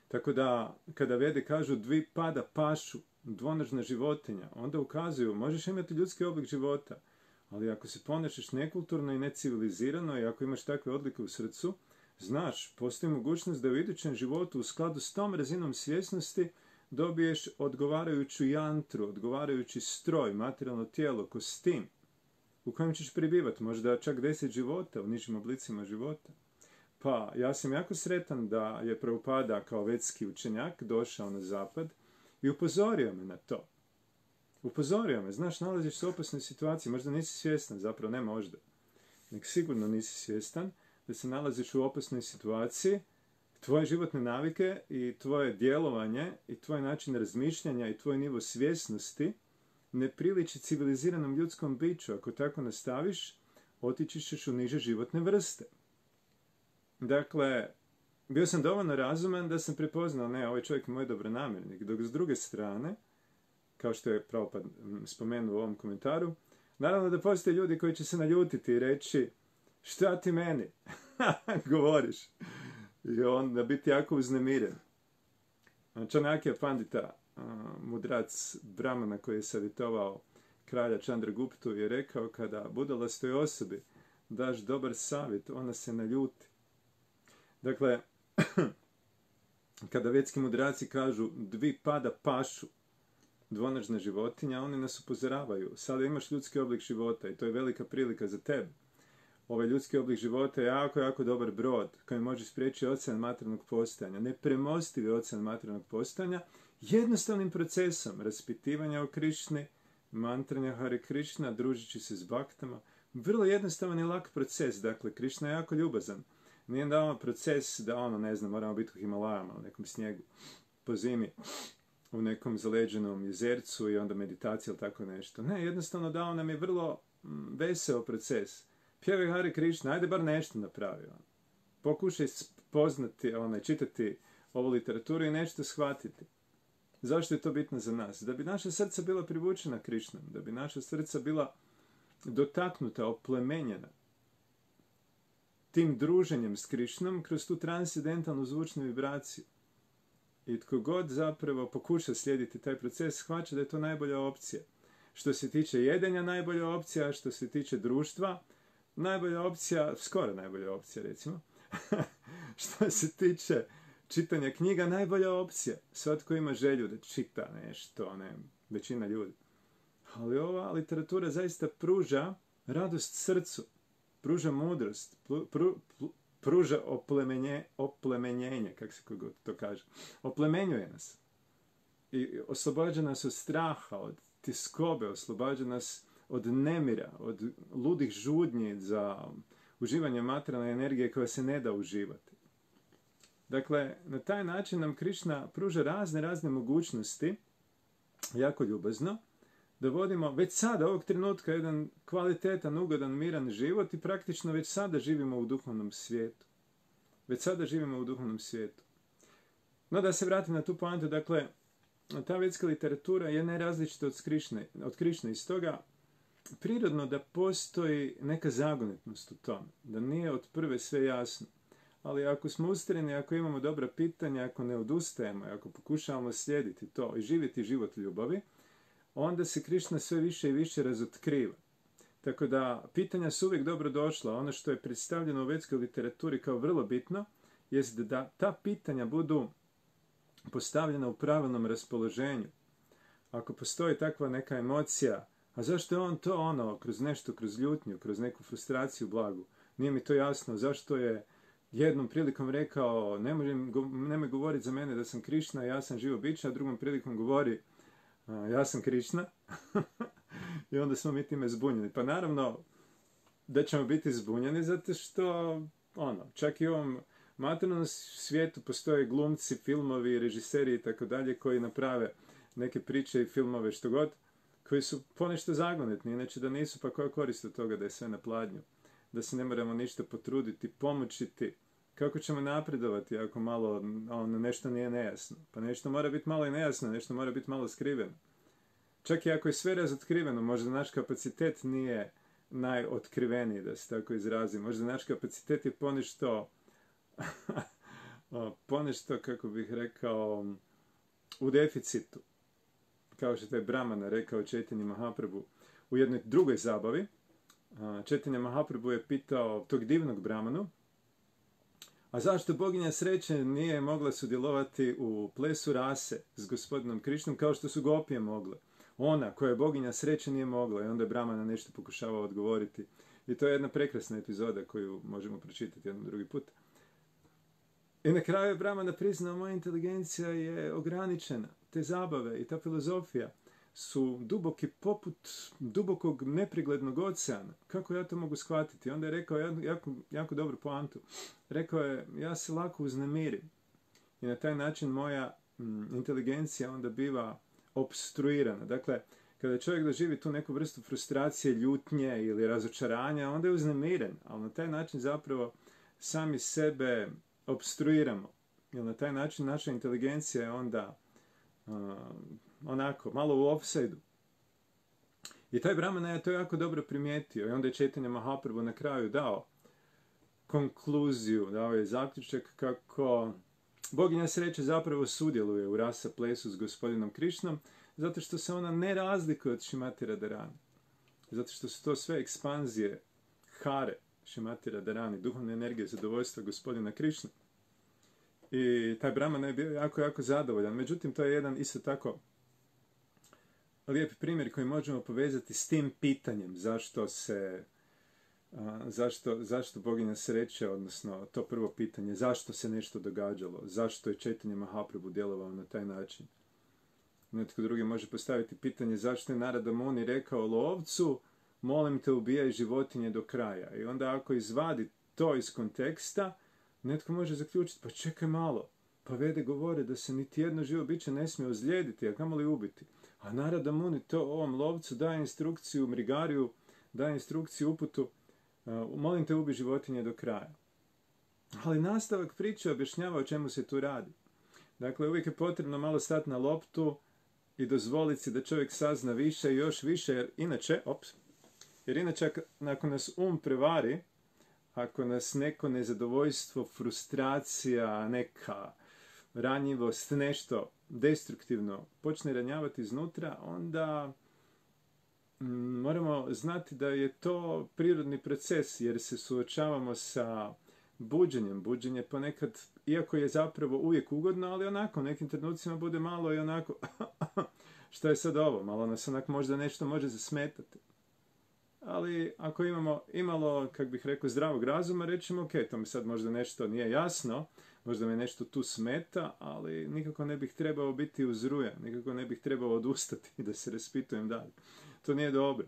Tako da, kada Vede kažu dvi pada pašu, dvonožna životinja, onda ukazuju, možeš imati ljudski oblik života, ali ako se ponašaš nekulturno i necivilizirano i ako imaš takve odlike u srcu, znaš, postoji mogućnost da u idućem životu u skladu s tom razinom svjesnosti dobiješ odgovarajuću jantru, odgovarajući stroj, materijalno tijelo, kostim, u kojem ćeš prebivati, možda čak 10 života u nižim oblicima života. Pa, ja sam jako sretan da je Prabhupada kao vedski učenjak došao na zapad i upozorio me na to. Upozorio me, znaš, nalaziš se u opasnoj situaciji, možda nisi svjestan, zapravo ne možda, nek sigurno nisi svjestan da se nalaziš u opasnoj situaciji, tvoje životne navike i tvoje djelovanje i tvoj način razmišljanja i tvoj nivo svjesnosti ne priliči civiliziranom ljudskom biću. Ako tako nastaviš, otići ćeš u niže životne vrste. Dakle, bio sam dovoljno razuman da sam prepoznao, ne, ovaj čovjek je moj dobronamjernik, dok s druge strane, kao što je Prabhupada spomenuo u ovom komentaru, naravno da postoje ljudi koji će se naljutiti i reći, šta ti meni govoriš? I onda biti jako uznemiren. Čanakya Pandita, mudrac Brahmana koji je savjetovao kralja Chandraguptu, je rekao, kada budalastoj osobi daš dobar savjet, ona se naljuti. Dakle, kada vedski mudraci kažu dvi pada pašu, dvonožna životinja, oni nas upozoravaju. Sada imaš ljudski oblik života i to je velika prilika za tebe. Ovaj ljudski oblik života je jako, jako dobar brod koji može spriječiti ocean materijalnog postojanja, nepremostivi ocean materijalnog postojanja, jednostavnim procesom raspitivanja o Krišni, mantranja Hare Krišna, družići se s baktama. Vrlo jednostavan i lak proces, dakle, Krišna je jako ljubazan. Nije da proces da moramo biti u Himalajama, u nekom snijegu, po zimi, u nekom zaleđenom jezercu i onda meditacija ili tako nešto. Ne, jednostavno dao nam je vrlo veseo proces. Pjevaj Hare Krišna, ajde bar nešto napravi. Pokušaj poznati, čitati ovu literaturu i nešto shvatiti. Zašto je to bitno za nas? Da bi naša srca bila privučena Krišnom, da bi naša srca bila dotaknuta, oplemenjena tim druženjem s Krišnom kroz tu transcendentalnu zvučnu vibraciju. I tko god zapravo pokuša slijediti taj proces, shvaća da je to najbolja opcija. Što se tiče jedenja, najbolja opcija, što se tiče društva, najbolja opcija, skoro najbolja opcija recimo. Što se tiče čitanja knjiga, najbolja opcija. Svatko ima želju da čita nešto, ne, većina ljudi. Ali ova literatura zaista pruža radost srcu, pruža mudrost, pruža oplemenjenje, kako se to kaže. Oplemenjuje nas. I oslobađa nas od straha, od tiskobe, oslobađa nas od nemira, od ludih žudnji za uživanje materijalne energije koja se ne da uživati. Dakle, na taj način nam Krišna pruža razne mogućnosti, jako ljubazno, da vodimo već sada, ovog trenutka, jedan kvalitetan, ugodan, miran život i praktično već sada živimo u duhovnom svijetu. Već sada živimo u duhovnom svijetu. No da se vratim na tu poantu, dakle, ta vedska literatura je nerazličita od Krišne i stoga prirodno da postoji neka zagonetnost u tome, da nije od prve sve jasno. Ali ako smo ustrajni, ako imamo dobra pitanja, ako ne odustajemo, ako pokušavamo slijediti to i živjeti život ljubavi, onda se Krišna sve više i više razotkriva. Tako da pitanja su uvijek dobro došla. Ono što je predstavljeno u vedskoj literaturi kao vrlo bitno, jest da ta pitanja budu postavljena u pravilnom raspoloženju. Ako postoji takva neka emocija, a zašto je on to kroz nešto, kroz ljutnju, kroz neku frustraciju blagu? Nije mi to jasno. Zašto je jednom prilikom rekao nemoj govoriti za mene da sam Krišna, ja sam živo biće, a drugom prilikom govori ja sam Krišna. I onda smo mi time zbunjeni. Pa naravno da ćemo biti zbunjeni zato što čak i u ovom materijalnom svijetu postoje glumci, filmovi, režiseri i tako dalje koji naprave neke priče i filmove što god, koji su ponešto zagonetni, inače da nisu, pa koja korist od toga da je sve na pladnju, da se ne moramo ništa potruditi, pomoćiti. Kako ćemo napredovati ako malo nešto nije nejasno? Pa nešto mora biti malo i nejasno, nešto mora biti malo skriveno. Čak i ako je sve razotkriveno, možda naš kapacitet nije najotkriveniji, da se tako izrazim. Možda naš kapacitet je ponešto, kako bih rekao, u deficitu. Kao što je Brahmana rekao Chaitanya Mahaprabhu u jednoj drugoj zabavi. Chaitanya Mahaprabhu je pitao tog divnog Brahmanu, a zašto boginja sreće nije mogla sudjelovati u plesu rase s gospodinom Krišnom kao što su gopije mogle? Ona koja je boginja sreće nije mogla, i onda je Brahmana nešto pokušavao odgovoriti. I to je jedna prekrasna epizoda koju možemo pročitati jedan drugi put. I na kraju je Brahmana priznao, moja inteligencija je ograničena. Te zabave i ta filozofija su duboki poput dubokog nepreglednog oceana. Kako ja to mogu shvatiti? Onda je rekao jako dobru poantu. Rekao je, ja se lako uznemirim. I na taj način moja inteligencija onda biva opstruirana. Dakle, kada čovjek doživi tu neku vrstu frustracije, ljutnje ili razočaranja, onda je uznemiren. Ali na taj način zapravo sami sebe opstruiramo. Jer na taj način naša inteligencija je onda malo u offside-u. I taj Brahmana je to jako dobro primijetio. I onda je Chaitanya Mahaprabhu na kraju dao konkluziju, dao je zaključak kako boginja sreće zapravo sudjeluje u rasa plesu s gospodinom Krišnom, zato što se ona ne razlikuje od Šrimati Radharani. Zato što su to sve ekspanzije hare Šrimati Radharani, duhovne energije zadovoljstva gospodina Krišna. I taj Brahmana je bio jako zadovoljan. Međutim, to je jedan isto tako lijep primjer koji možemo povezati s tim pitanjem zašto boginja sreće, odnosno to prvo pitanje, zašto se nešto događalo, zašto je Chaitanya Mahaprabhu djelovao na taj način. Netko drugi može postaviti pitanje zašto je Narada Muni rekao lovcu, molim te ubijaj životinje do kraja. I onda ako izvadi to iz konteksta, netko može zaključiti, pa čekaj malo, pa Vede govore da se niti jedno živo biće ne smije ozlijediti, a kamoli ubiti. A Narada Muni to ovom lovcu daje instrukciju Mrigariju, daje instrukciju uputu, molim te ubi životinje do kraja. Ali nastavak priče objašnjava o čemu se tu radi. Dakle, uvijek je potrebno malo stati na loptu i dozvoliti si da čovjek sazna više i još više, jer inače ako nas prevari, ako nas neko nezadovoljstvo, frustracija, neka ranjivost, nešto destruktivno počne ranjavati iznutra, onda moramo znati da je to prirodni proces, jer se suočavamo sa buđenjem. Buđenje ponekad, iako je zapravo uvijek ugodno, ali onako, u nekim trenucima bude malo i onako, šta je sad ovo? Malo nas onak možda nešto može zasmetati. Ali ako imamo imalo, kak bih rekao, zdravog razuma, rećemo, ok, to mi sad možda nešto nije jasno, možda me nešto tu smeta, ali nikako ne bih trebao biti uzrujan, nikako ne bih trebao odustati da se raspitujem dalje. To nije dobro.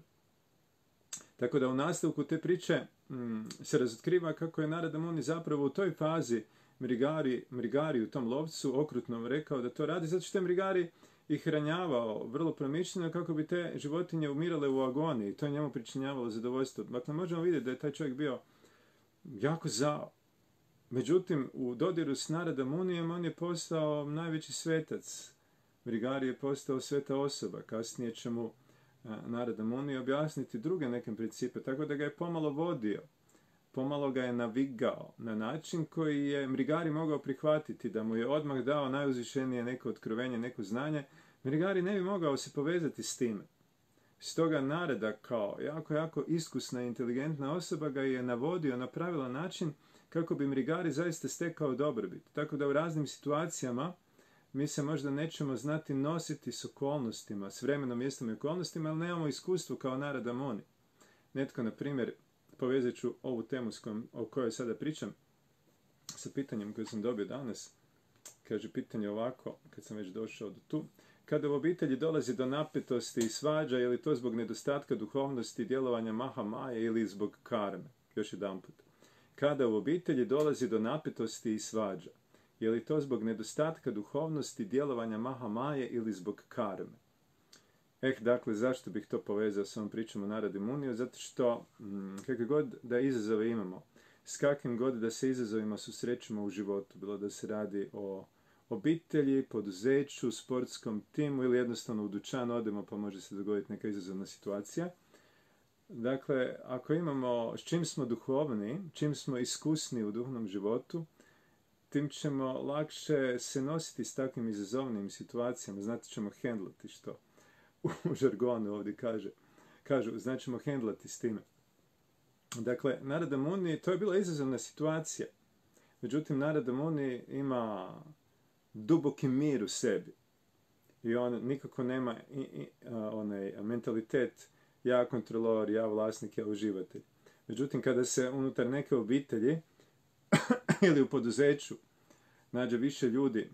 Tako da u nastavku te priče se razotkriva kako je Narada Muni zapravo u toj fazi Mrigari u tom lovcu okrutnom rekao da to radi, zato što je Mrigari ih ranjavao vrlo promišljeno kako bi te životinje umirale u agoniji. To je njemu pričinjavalo zadovoljstvo. Dakle, možemo vidjeti da je taj čovjek bio jako zao. Međutim, u dodiru s Narada Munijem on je postao najveći svetac. Mrigari je postao sveta osoba. Kasnije će mu Narada Muni objasniti druge neke principe, tako da ga je pomalo vodio. Pomalo ga je navigao na način koji je Mrigari mogao prihvatiti, da mu je odmah dao najuzvišenije neko otkrovenje, neko znanje. Mrigari ne bi mogao se povezati s time. Stoga Narada kao jako iskusna i inteligentna osoba ga je navodio na pravilan način kako bi Mrigari zaista stekao dobrobit. Tako da u raznim situacijama mi se možda nećemo znati nositi s okolnostima, s vremenom, mjestom i okolnostima, ali nemamo iskustvo kao Narada Muni. Netko, na primjer, povezat ću ovu temu o kojoj sada pričam sa pitanjem koje sam dobio danas. Kaže pitanje ovako, kad sam već došao do tu. Kada u obitelji dolazi do napetosti i svađa, je li to zbog nedostatka duhovnosti, djelovanja Maha Maje ili zbog karme? Još jedan put. Kada u obitelji dolazi do napetosti i svađa, je li to zbog nedostatka duhovnosti, djelovanja Maha Maje ili zbog karme? Dakle, zašto bih to povezao s ovom pričom o Naradi Muniju? Zato što, kakve god da izazove imamo, s kakvim god da se izazovima susrećemo u životu, bilo da se radi o obitelji, poduzeću, sportskom timu ili jednostavno u dućan odemo pa može se dogoditi neka izazovna situacija. Dakle, ako imamo, s čim smo duhovni, čim smo iskusni u duhovnom životu, tim ćemo lakše se nositi s takvim izazovnim situacijama, znati ćemo hendlati, što u žargonu ovdje kažu, znači ćemo hendlati s time. Dakle, Narada Muni, to je bila izazovna situacija. Međutim, Narada Muni ima duboki mir u sebi. I on nikako nema onaj mentalitet ja kontrolor, ja vlasnik, ja uživatelj. Međutim, kada se unutar neke obitelji ili u poduzeću nađe više ljudi,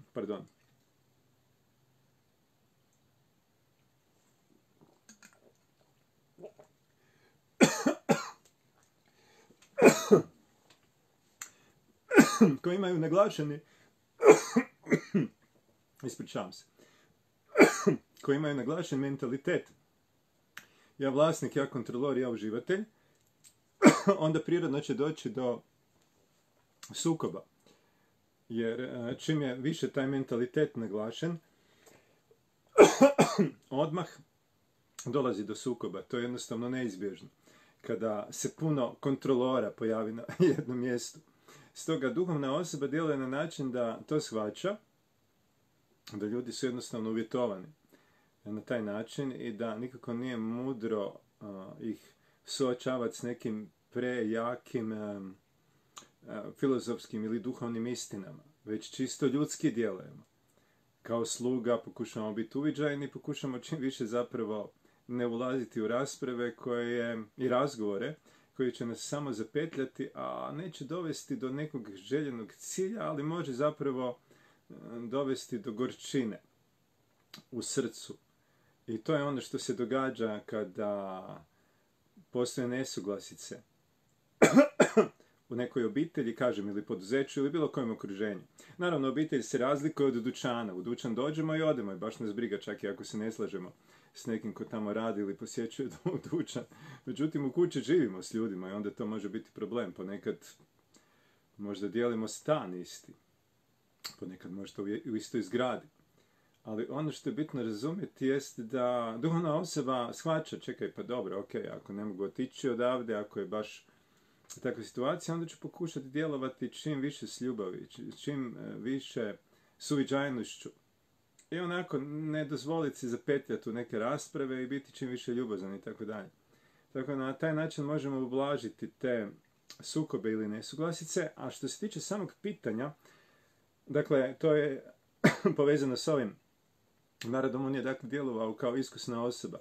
koji imaju naglašeni koji imaju naglašen mentalitet ja vlasnik, ja kontrolor, ja uživatelj, onda prirodno će doći do sukoba. Jer čim je više taj mentalitet naglašen, odmah dolazi do sukoba. To je jednostavno neizbježno. Kada se puno kontrolora pojavi na jednom mjestu. Stoga duhovna osoba djeluje na način da to shvaća, da ljudi su jednostavno uvjetovani na taj način i da nikako nije mudro ih suočavati s nekim prejakim filozofskim ili duhovnim istinama, već čisto ljudski djelujemo. Kao sluga pokušamo biti uviđajni, pokušamo čim više zapravo ne ulaziti u rasprave i razgovore koji će nas samo zapetljati, a neće dovesti do nekog željenog cilja, ali može zapravo dovesti do gorčine u srcu. I to je ono što se događa kada postoje nesuglasice u nekoj obitelji, kažem, ili poduzeću, ili bilo kojem okruženju. Naravno, obitelj se razlikuje od dućana. U dućan dođemo i odemo i baš nas briga, čak i ako se ne slažemo s nekim ko tamo radi ili posjećuje dućan. Međutim, u kući živimo s ljudima i onda to može biti problem. Ponekad možda dijelimo stan isti. Ponekad možda u istoj zgradi. Ali ono što je bitno razumjeti jest da duhovna osoba shvaća, čekaj, pa dobro, ok, ako ne mogu otići odavde, ako je baš takva situacija, onda ću pokušati djelovati čim više s ljubavi, čim više suviđajnošću. I onako ne dozvoliti si zapetljati u neke rasprave i biti čim više ljubazan i tako dalje. Tako na taj način možemo ublažiti te sukobe ili nesuglasice, a što se tiče samog pitanja, dakle, to je povezano s ovim. Narodom on je dakle djelovao kao iskusna osoba.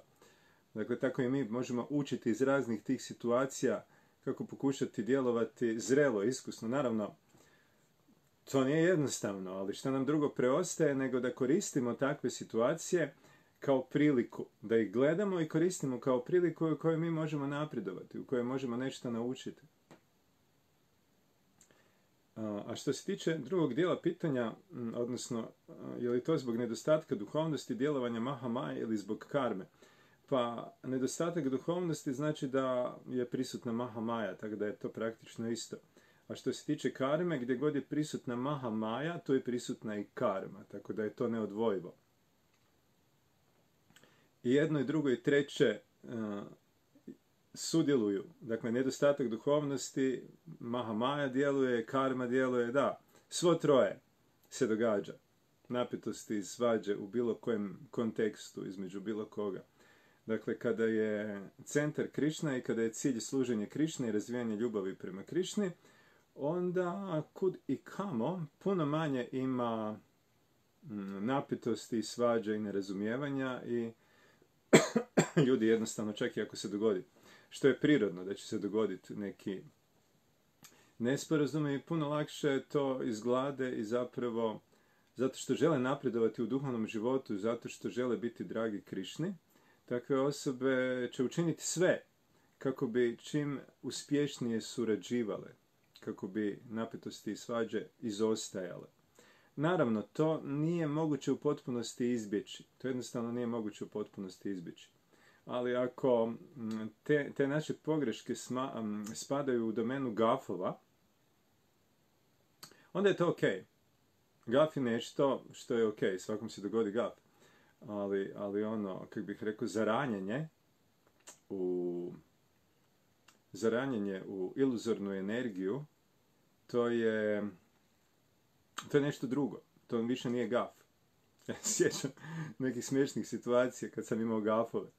Dakle, tako i mi možemo učiti iz raznih tih situacija kako pokušati djelovati zrelo, iskusno. Naravno, to nije jednostavno, ali što nam drugo preostaje nego da koristimo takve situacije kao priliku, da ih gledamo i koristimo kao priliku u kojoj mi možemo napredovati, u kojoj možemo nešto naučiti. A što se tiče drugog dijela pitanja, odnosno, je li to zbog nedostatka duhovnosti djelovanja Mahamaje ili zbog karme? Pa, nedostatak duhovnosti znači da je prisutna Mahamaja, tako da je to praktično isto. A što se tiče karme, gdje god je prisutna Mahamaja, to je prisutna i karma, tako da je to neodvojivo. I jedno i drugo i treće sudjeluju. Dakle, nedostatak duhovnosti, Mahamaja djeluje, karma djeluje, da, svo troje se događa. Napetosti i svađe u bilo kojem kontekstu, između bilo koga. Dakle, kada je centar Krišna i kada je cilj služenje Krišne i razvijanje ljubavi prema Krišni, onda kud i kamo puno manje ima napetosti, svađa i nerazumijevanja i ljudi jednostavno, čak i ako se dogodi, što je prirodno da će se dogoditi neki nesporazumi, puno lakše to izglade i zapravo zato što žele napredovati u duhovnom životu, zato što žele biti dragi Krišni, takve osobe će učiniti sve kako bi čim uspješnije surađivale, kako bi napetosti i svađe izostajale. Naravno, to nije moguće u potpunosti izbjeći. To jednostavno nije moguće u potpunosti izbjeći. Ali ako te naše pogreške spadaju u domenu gafova, onda je to ok. Gaf je nešto što je ok, svakom se dogodi gaf. Ali ono, kako bih rekao, zaranjenje u iluzornu energiju, to je nešto drugo. To više nije gaf. Ja se sjećam nekih smiješnih situacija kad sam imao gafove.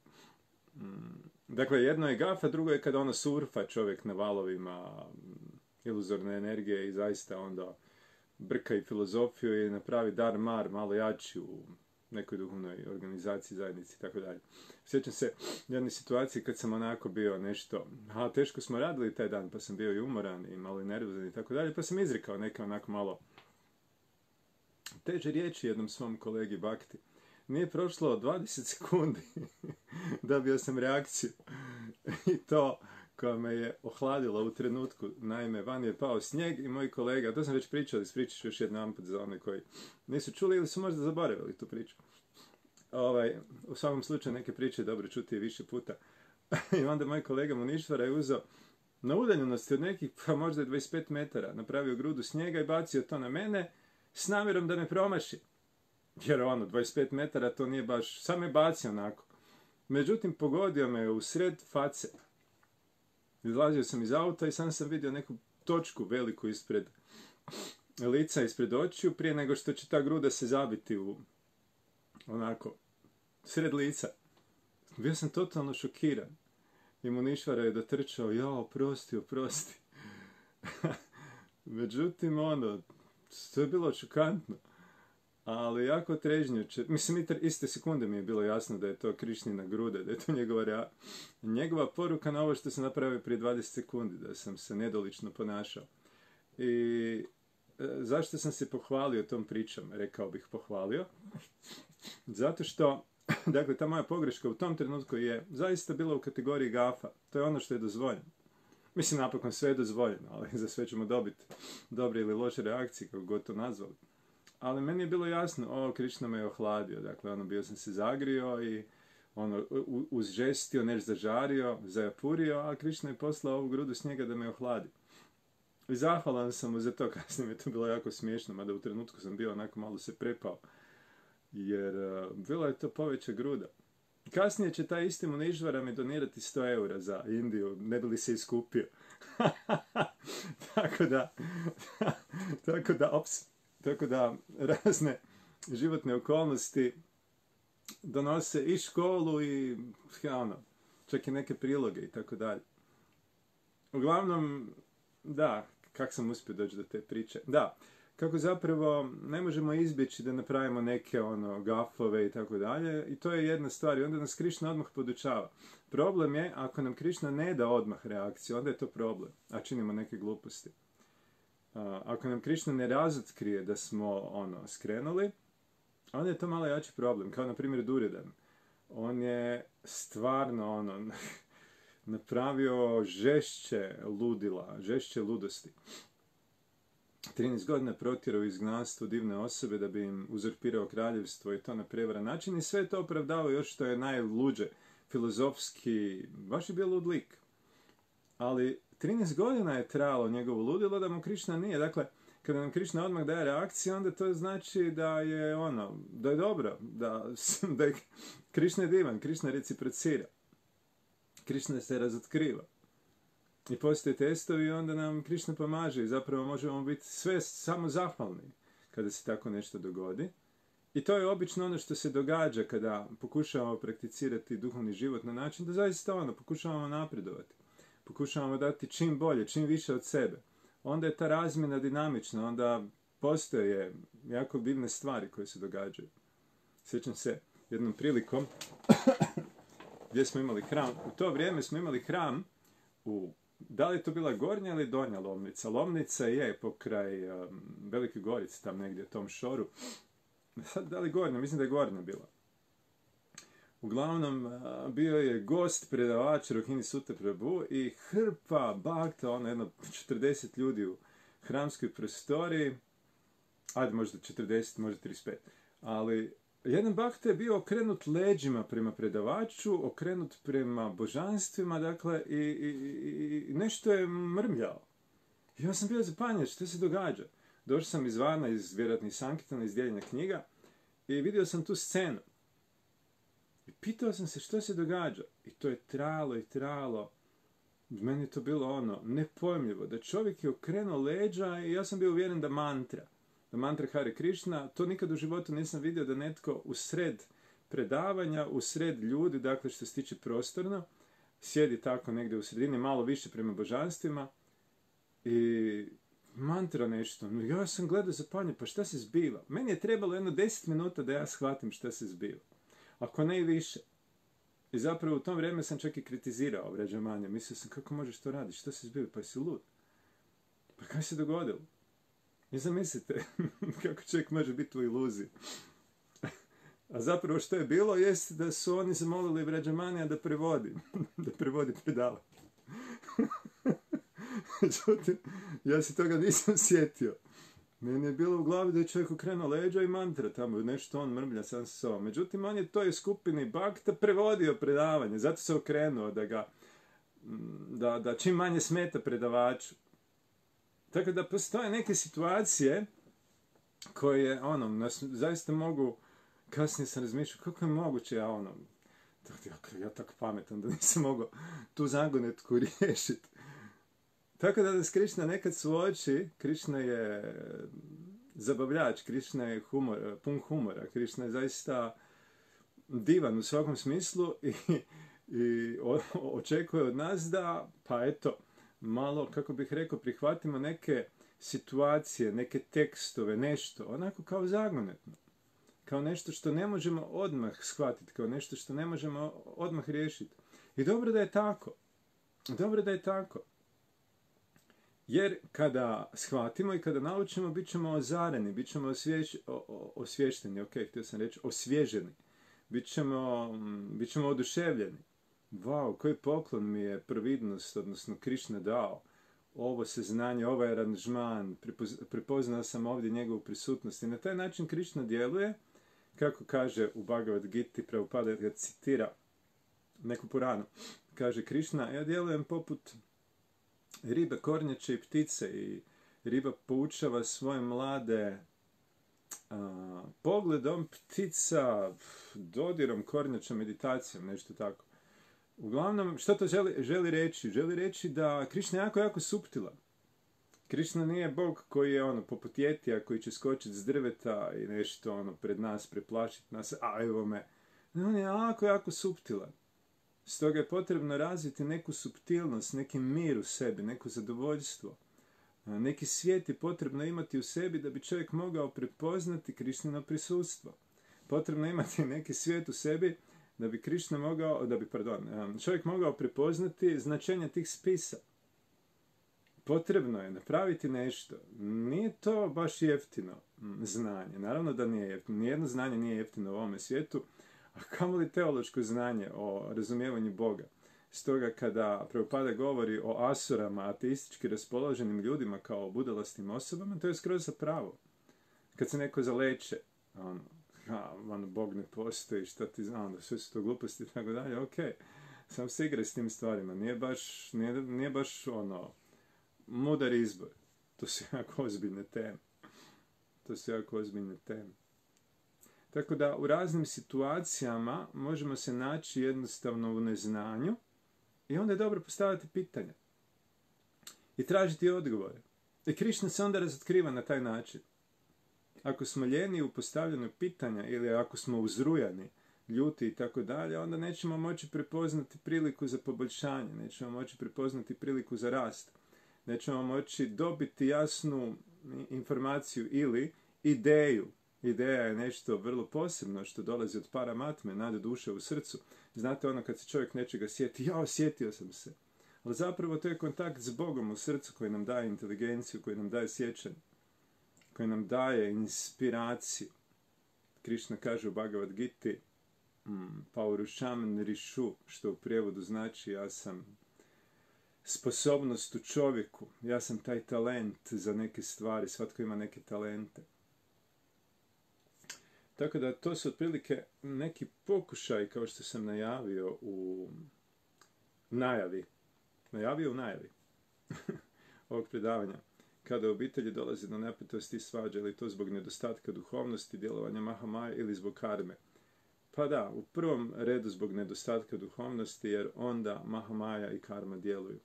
Dakle, jedno je gaf, a drugo je kada ono surfa čovjek na valovima iluzorne energije i zaista onda brka i filozofiju i napravi dar mar malo jači u nekoj duhovnoj organizaciji, zajednici i tako dalje. Sjećam se jedne situacije kad sam onako bio nešto, teško smo radili taj dan, pa sam bio i umoran i malo i nervozan i tako dalje, pa sam izrekao neke onako malo teže riječi jednom svom kolegi Bakti. Nije prošlo 20 sekundi, dobio sam reakciju i to koja me je ohladila u trenutku. Naime, van je pao snijeg i moji kolega, to sam već pričao, ispričat ću još jedan put za one koji nisu čuli ili su možda zaboravili tu priču. U svakom slučaju neke priče je dobro čuti više puta. I onda moj kolega Munišvara je uzeo na udaljenosti od nekih, pa možda 25 metara, napravio grudu snijega i bacio to na mene s namjerom da me promaši. Jer 25 metara to nije baš, sam je bacio onako. Međutim, pogodio me u sred face. Izlazio sam iz auta i sam vidio neku točku veliku ispred lica, ispred očiju, prije nego što će ta gruda se zabiti u onako sred lica. Bio sam totalno šokiran. I Munišvara je dotrčao, oprosti. Međutim, to je bilo šokantno. Ali jako trežnjuće. Mislim, iste sekunde mi je bilo jasno da je to Krišnina gruda, da je to njegova poruka na ovo što sam napravio prije 20 sekundi, da sam se nedolično ponašao. I zašto sam se pohvalio tom pričom? Rekao bih pohvalio. Zato što, dakle, ta moja pogreška u tom trenutku je zaista bila u kategoriji gafa. To je ono što je dozvoljeno. Mislim, napokon sve je dozvoljeno, ali za sve ćemo dobiti dobre ili loše reakcije, kako god to nazvali. Ali meni je bilo jasno, Krišna me je ohladio, dakle, bio sam se zagrio i uzžestio, nešto zažario, zajapurio, a Krišna je poslao ovu grudu snijega da me ohladi. I zahvalan sam mu za to, kasnije mi je to bilo jako smiješno, mada u trenutku sam bio onako malo se prepao, jer bila je to poveća gruda. Kasnije će taj isti Munišvara mi donirati 100 eura za Indiju, ne bi li se iskupio. Tako da, Tako da razne životne okolnosti donose i školu i čak i neke priloge i tako dalje. Uglavnom, da, kako sam uspio doći do te priče? Da, kako zapravo ne možemo izbjeći da napravimo neke gafove i tako dalje, i to je jedna stvar, i onda nas Krišna odmah podučava. Problem je, ako nam Krišna ne da odmah reakciju, onda je to problem, a činimo neke gluposti. Ako nam Krišna ne razotkrije da smo skrenuli, onda je to malo jači problem, kao na primjer Duryodan. On je stvarno napravio žešće ludila, žešće ludosti. 13 godina protjerao u izgnanstvo divne osobe da bi im uzurpirao kraljevstvo i to na prevaran način, i sve to opravdao još što je najluđe, filozofski, baš je bio lud lik. Ali 13 godina je trajalo njegovo ludilo da mu Krišna nije. Dakle, kada nam Krišna odmah daje reakciju, onda to znači da je da je dobro, da je Krišna je divan, Krišna reciprocira. Krišna se razotkriva. I postoje testovi i onda nam Krišna pomaže i zapravo možemo biti sve samo zahvalni kada se tako nešto dogodi. I to je obično ono što se događa kada pokušavamo prakticirati duhovni život na način da zaista pokušavamo napredovati. Pokušavamo dati čim bolje, čim više od sebe. Onda je ta razmjena dinamična, onda postoje jako divne stvari koje se događaju. Sjećam se jednom prilikom gdje smo imali hram. U to vrijeme smo imali hram da li je to bila Gornja ili Donja Lomnica? Lomnica je pokraj Velike Gorice, tam negdje u tom šoru. Da li Gornja? Mislim da je Gornja bila. Uglavnom, bio je gost, predavač Rohini Sutta Prabhu i hrpa bakta, jedno 40 ljudi u hramskoj prostoriji, ajde možda 40, možda 35, ali jedan bakta je bio okrenut leđima prema predavaču, okrenut prema božanstvima, dakle, i nešto je mrmljao. Ja sam bio zapanjen, što se događa? Došao sam izvana, iz vjerojatnih Sankirtana, iz dijeljenja knjiga, i vidio sam tu scenu. I pitao sam se što se događa. I to je trajalo i trajalo. Meni je to bilo nepojmljivo. Da čovjek je okrenuo leđa i ja sam bio uvjeren da mantra Hare Krishna, to nikad u životu nisam vidio da netko u sred predavanja, u sred ljudi, dakle što se tiče prostorno, sjedi tako negdje u sredini, malo više prema božanstvima i mantra nešto. Ja sam gledao zapanjen, pa šta se zbiva? Meni je trebalo 10 minuta da ja shvatim šta se zbiva. Ako ne i više. I zapravo u tom vrijeme sam čak i kritizirao Vrađamanja. Mislio sam, kako možeš to raditi? Šta se zbiva? Pa jesi lud? Pa kaj se dogodilo? I zamislite kako čovjek može biti u iluziji. A zapravo što je bilo jest da su oni zamolili Vrađamanija da prevodi. Da prevodi predavanje. Međutim, ja se toga nisam sjetio. Meni je bilo u glavi da je čovjek okrenuo leđa i mantra tamo, nešto on mrmlja sam sa sobom. Međutim, on je toj skupini bakta prevodio predavanje, zato se okrenuo da čim manje smeta predavaču. Tako da postoje neke situacije koje, nas zaista mogu, kasnije sam razmišljao, kako je moguće ja tako pametan da nisam mogao tu zagonetku riješiti. Tako da nas Krišna nekad suoči, Krišna je zabavljač, Krišna je pun humora, Krišna je zaista divan u svakom smislu i očekuje od nas da, pa eto, malo, kako bih rekao, prihvatimo neke situacije, neke tekstove, nešto, onako kao zagonetno. Kao nešto što ne možemo odmah shvatiti, kao nešto što ne možemo odmah riješiti. I dobro da je tako. Dobro da je tako. Jer kada shvatimo i kada naučimo, bit ćemo ozareni, bit ćemo osvješteni, htio sam reći, osvježeni. Bit ćemo oduševljeni. Wow, koji poklon mi je providnost, odnosno Krišna dao. Ovo saznanje, ovaj aranžman, prepoznao sam ovdje njegovu prisutnost. I na taj način Krišna djeluje, kako kaže u Bhagavad Giti, Prabhupada ga citira neku Puranu. Kaže Krišna, ja djelujem poput ribe, kornjače i ptice, i riba poučava svoje mlade pogledom, ptica dodirom, kornjača meditacijom, nešto tako. Uglavnom, što to želi reći? Želi reći da Krišna je jako, jako suptilan. Krišna nije Bog koji je poput jetija koji će skočiti s drveta i nešto pred nas preplašiti nas, a evo me. On je jako suptilan. Stoga je potrebno razviti neku suptilnost, neki mir u sebi, neko zadovoljstvo. Neki svijet je potrebno imati u sebi da bi čovjek mogao prepoznati Krišnino prisustvo. Potrebno imati neki svijet u sebi da bi čovjek mogao prepoznati značenje tih spisa. Potrebno je napraviti nešto. Nije to baš jeftino znanje. Naravno da nije jeftino. Nijedno znanje nije jeftino u ovome svijetu, a kamoli teološko znanje o razumijevanju Boga. Stoga kada Prabhupada govori o asurama, ateistički raspoloženim ljudima kao o budalastim osobama, to je skroz za pravo. Kad se neko zaleče, Bog ne postoji, šta ti znam, sve su to gluposti i tako dalje, ok, sam se igraj s tim stvarima, nije baš mudar izbor. To su jako ozbiljne teme. Tako da u raznim situacijama možemo se naći jednostavno u neznanju i onda je dobro postaviti pitanja i tražiti odgovore. I Krišna se onda razotkriva na taj način. Ako smo ljeni u postavljanju pitanja ili ako smo uzrujani, ljuti i tako dalje, onda nećemo moći prepoznati priliku za poboljšanje, nećemo moći prepoznati priliku za rast, nećemo moći dobiti jasnu informaciju ili ideju. Ideja je nešto vrlo posebno što dolazi od paramatme, nade duše u srcu. Znate kad se čovjek nečega sjeti, sjetio sam se. Ali zapravo to je kontakt s Bogom u srcu koji nam daje inteligenciju, koji nam daje sjećanje, koji nam daje inspiraciju. Krišna kaže u Bhagavad Giti, Paurušam Nrišu, što u prijevodu znači ja sam sposobnost u čovjeku, ja sam taj talent za neke stvari, svatko ima neke talente. Tako da to su otprilike neki pokušaj, kao što sam najavio u najavi ovog predavanja. Kada u obitelji dolazi do napetosti i svađa, ili to zbog nedostatka duhovnosti, djelovanja Mahamaje ili zbog karme. Pa da, u prvom redu zbog nedostatka duhovnosti, jer onda Mahamaja i karma djeluju.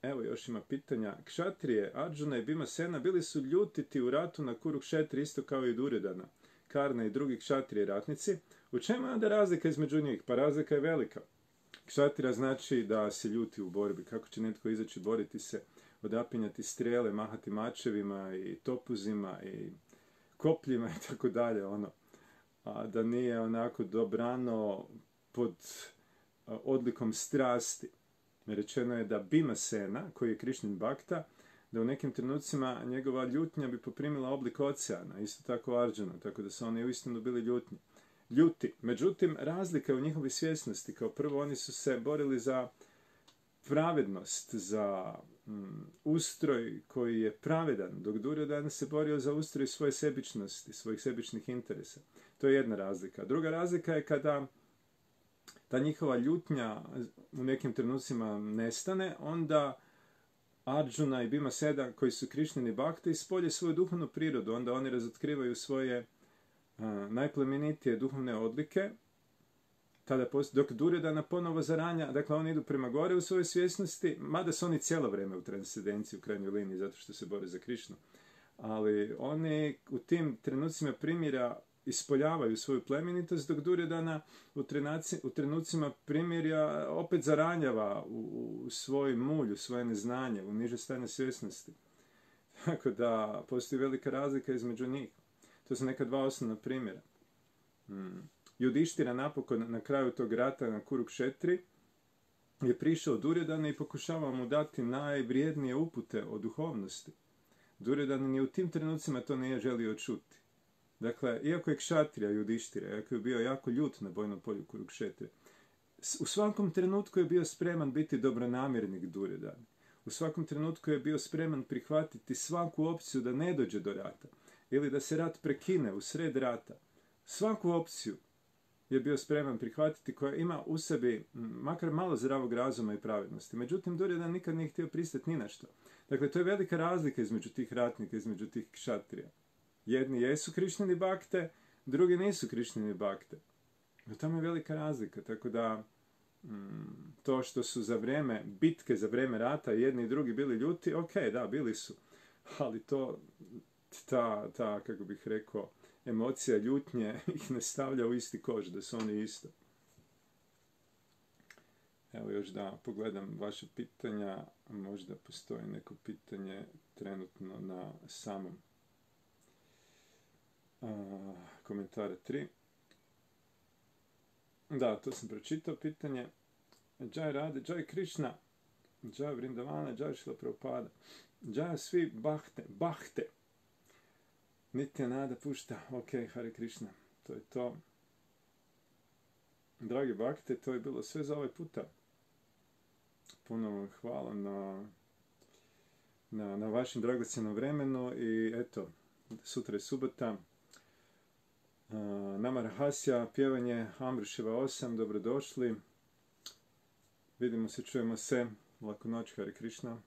Evo još ima pitanja. Kšatrije, Arjuna i Bhimasena bili su ljutiti u ratu na Kurukšetri isto kao i Duryodhana, Karna i drugi kšatrije ratnici. U čemu je onda razlika između njih? Pa razlika je velika. Kšatrija znači da se ljuti u borbi. Kako će netko izaći boriti se, odapinjati strele, mahati mačevima i topuzima i kopljima i tako dalje, a da nije onako dobrano pod odlikom strasti. Rečeno je da Bhimasena, koji je Krišnin bakta, da u nekim trenucima njegova ljutnja bi poprimila oblik oceana, isto tako Arjuna, tako da su oni uistinu bili ljuti. Međutim, razlika je u njihovoj svjesnosti. Kao prvo, oni su se borili za pravednost, za ustroj koji je pravedan, dok Duryodhana se borio za ustroj svoje sebičnosti, svojih sebičnih interesa. To je jedna razlika. Druga razlika je kada ta njihova ljutnja u nekim trenucima nestane, onda Arjuna i Bhimasena, koji su Krišnini bakte, ispolje svoju duhovnu prirodu, onda oni razotkrivaju svoje najplemenitije duhovne odlike, dok Duryodhana ponovo zaranja, dakle oni idu prema gore u svojoj svjesnosti, mada su oni cijelo vrijeme u transcendenciji, u krajnjoj liniji, zato što se bore za Krišnu. Ali oni u tim trenucima primjera ispoljavaju svoju plemenitost, dok Duryodhana u trenucima primirja opet zaranjava u svoj mulj, u svoje neznanje, u niže stanje svjesnosti. Tako da postoji velika razlika između njih. To su neka dva osnovna primjera. Judištira napokon na kraju tog rata na Kurukšetri je prišao Duryodhana i pokušavao mu dati najvrijednije upute o duhovnosti. Duryodhana ni u tim trenucima to nije želio čuti. Dakle, iako je kšatrija Judištira, iako je bio jako ljut na bojnom polju Kurukšetre, u svakom trenutku je bio spreman biti dobronamjernik Duryodhana. U svakom trenutku je bio spreman prihvatiti svaku opciju da ne dođe do rata ili da se rat prekine u sred rata. Svaku opciju je bio spreman prihvatiti koja ima u sebi makar malo zdravog razuma i pravednosti. Međutim, Duryodhana nikad nije htio pristati ni na što. Dakle, to je velika razlika između tih ratnika, između tih kšatrija. Jedni jesu Krišnini bakte, drugi nisu Krišnini bakte. No, tamo je velika razlika, tako da to što su za vrijeme bitke, za vrijeme rata jedni i drugi bili ljuti, ok, da, bili su. ali kako bih rekao, emocija ljutnje ih ne stavlja u isti koš, da su oni isto. Evo još da pogledam vaše pitanja, možda postoji neko pitanje trenutno na samom komentare 3. Da, to sam pročitao pitanje. Jai Rade, Jai Krishna, Jai Vrindavana, Jai Šrila Prabhupada, Jai svi Bahte. Nityananda pušta, ok, Hare Krishna, to je to. Dragi Bhakte, to je bilo sve za ovaj puta. Puno vam hvala na vašem dragocjenom vremenu i eto, sutra je subota. Nama Rahasya, pjevanje Amriševa 8, dobrodošli. Vidimo se, čujemo se. Laku noć, Hare Krishna.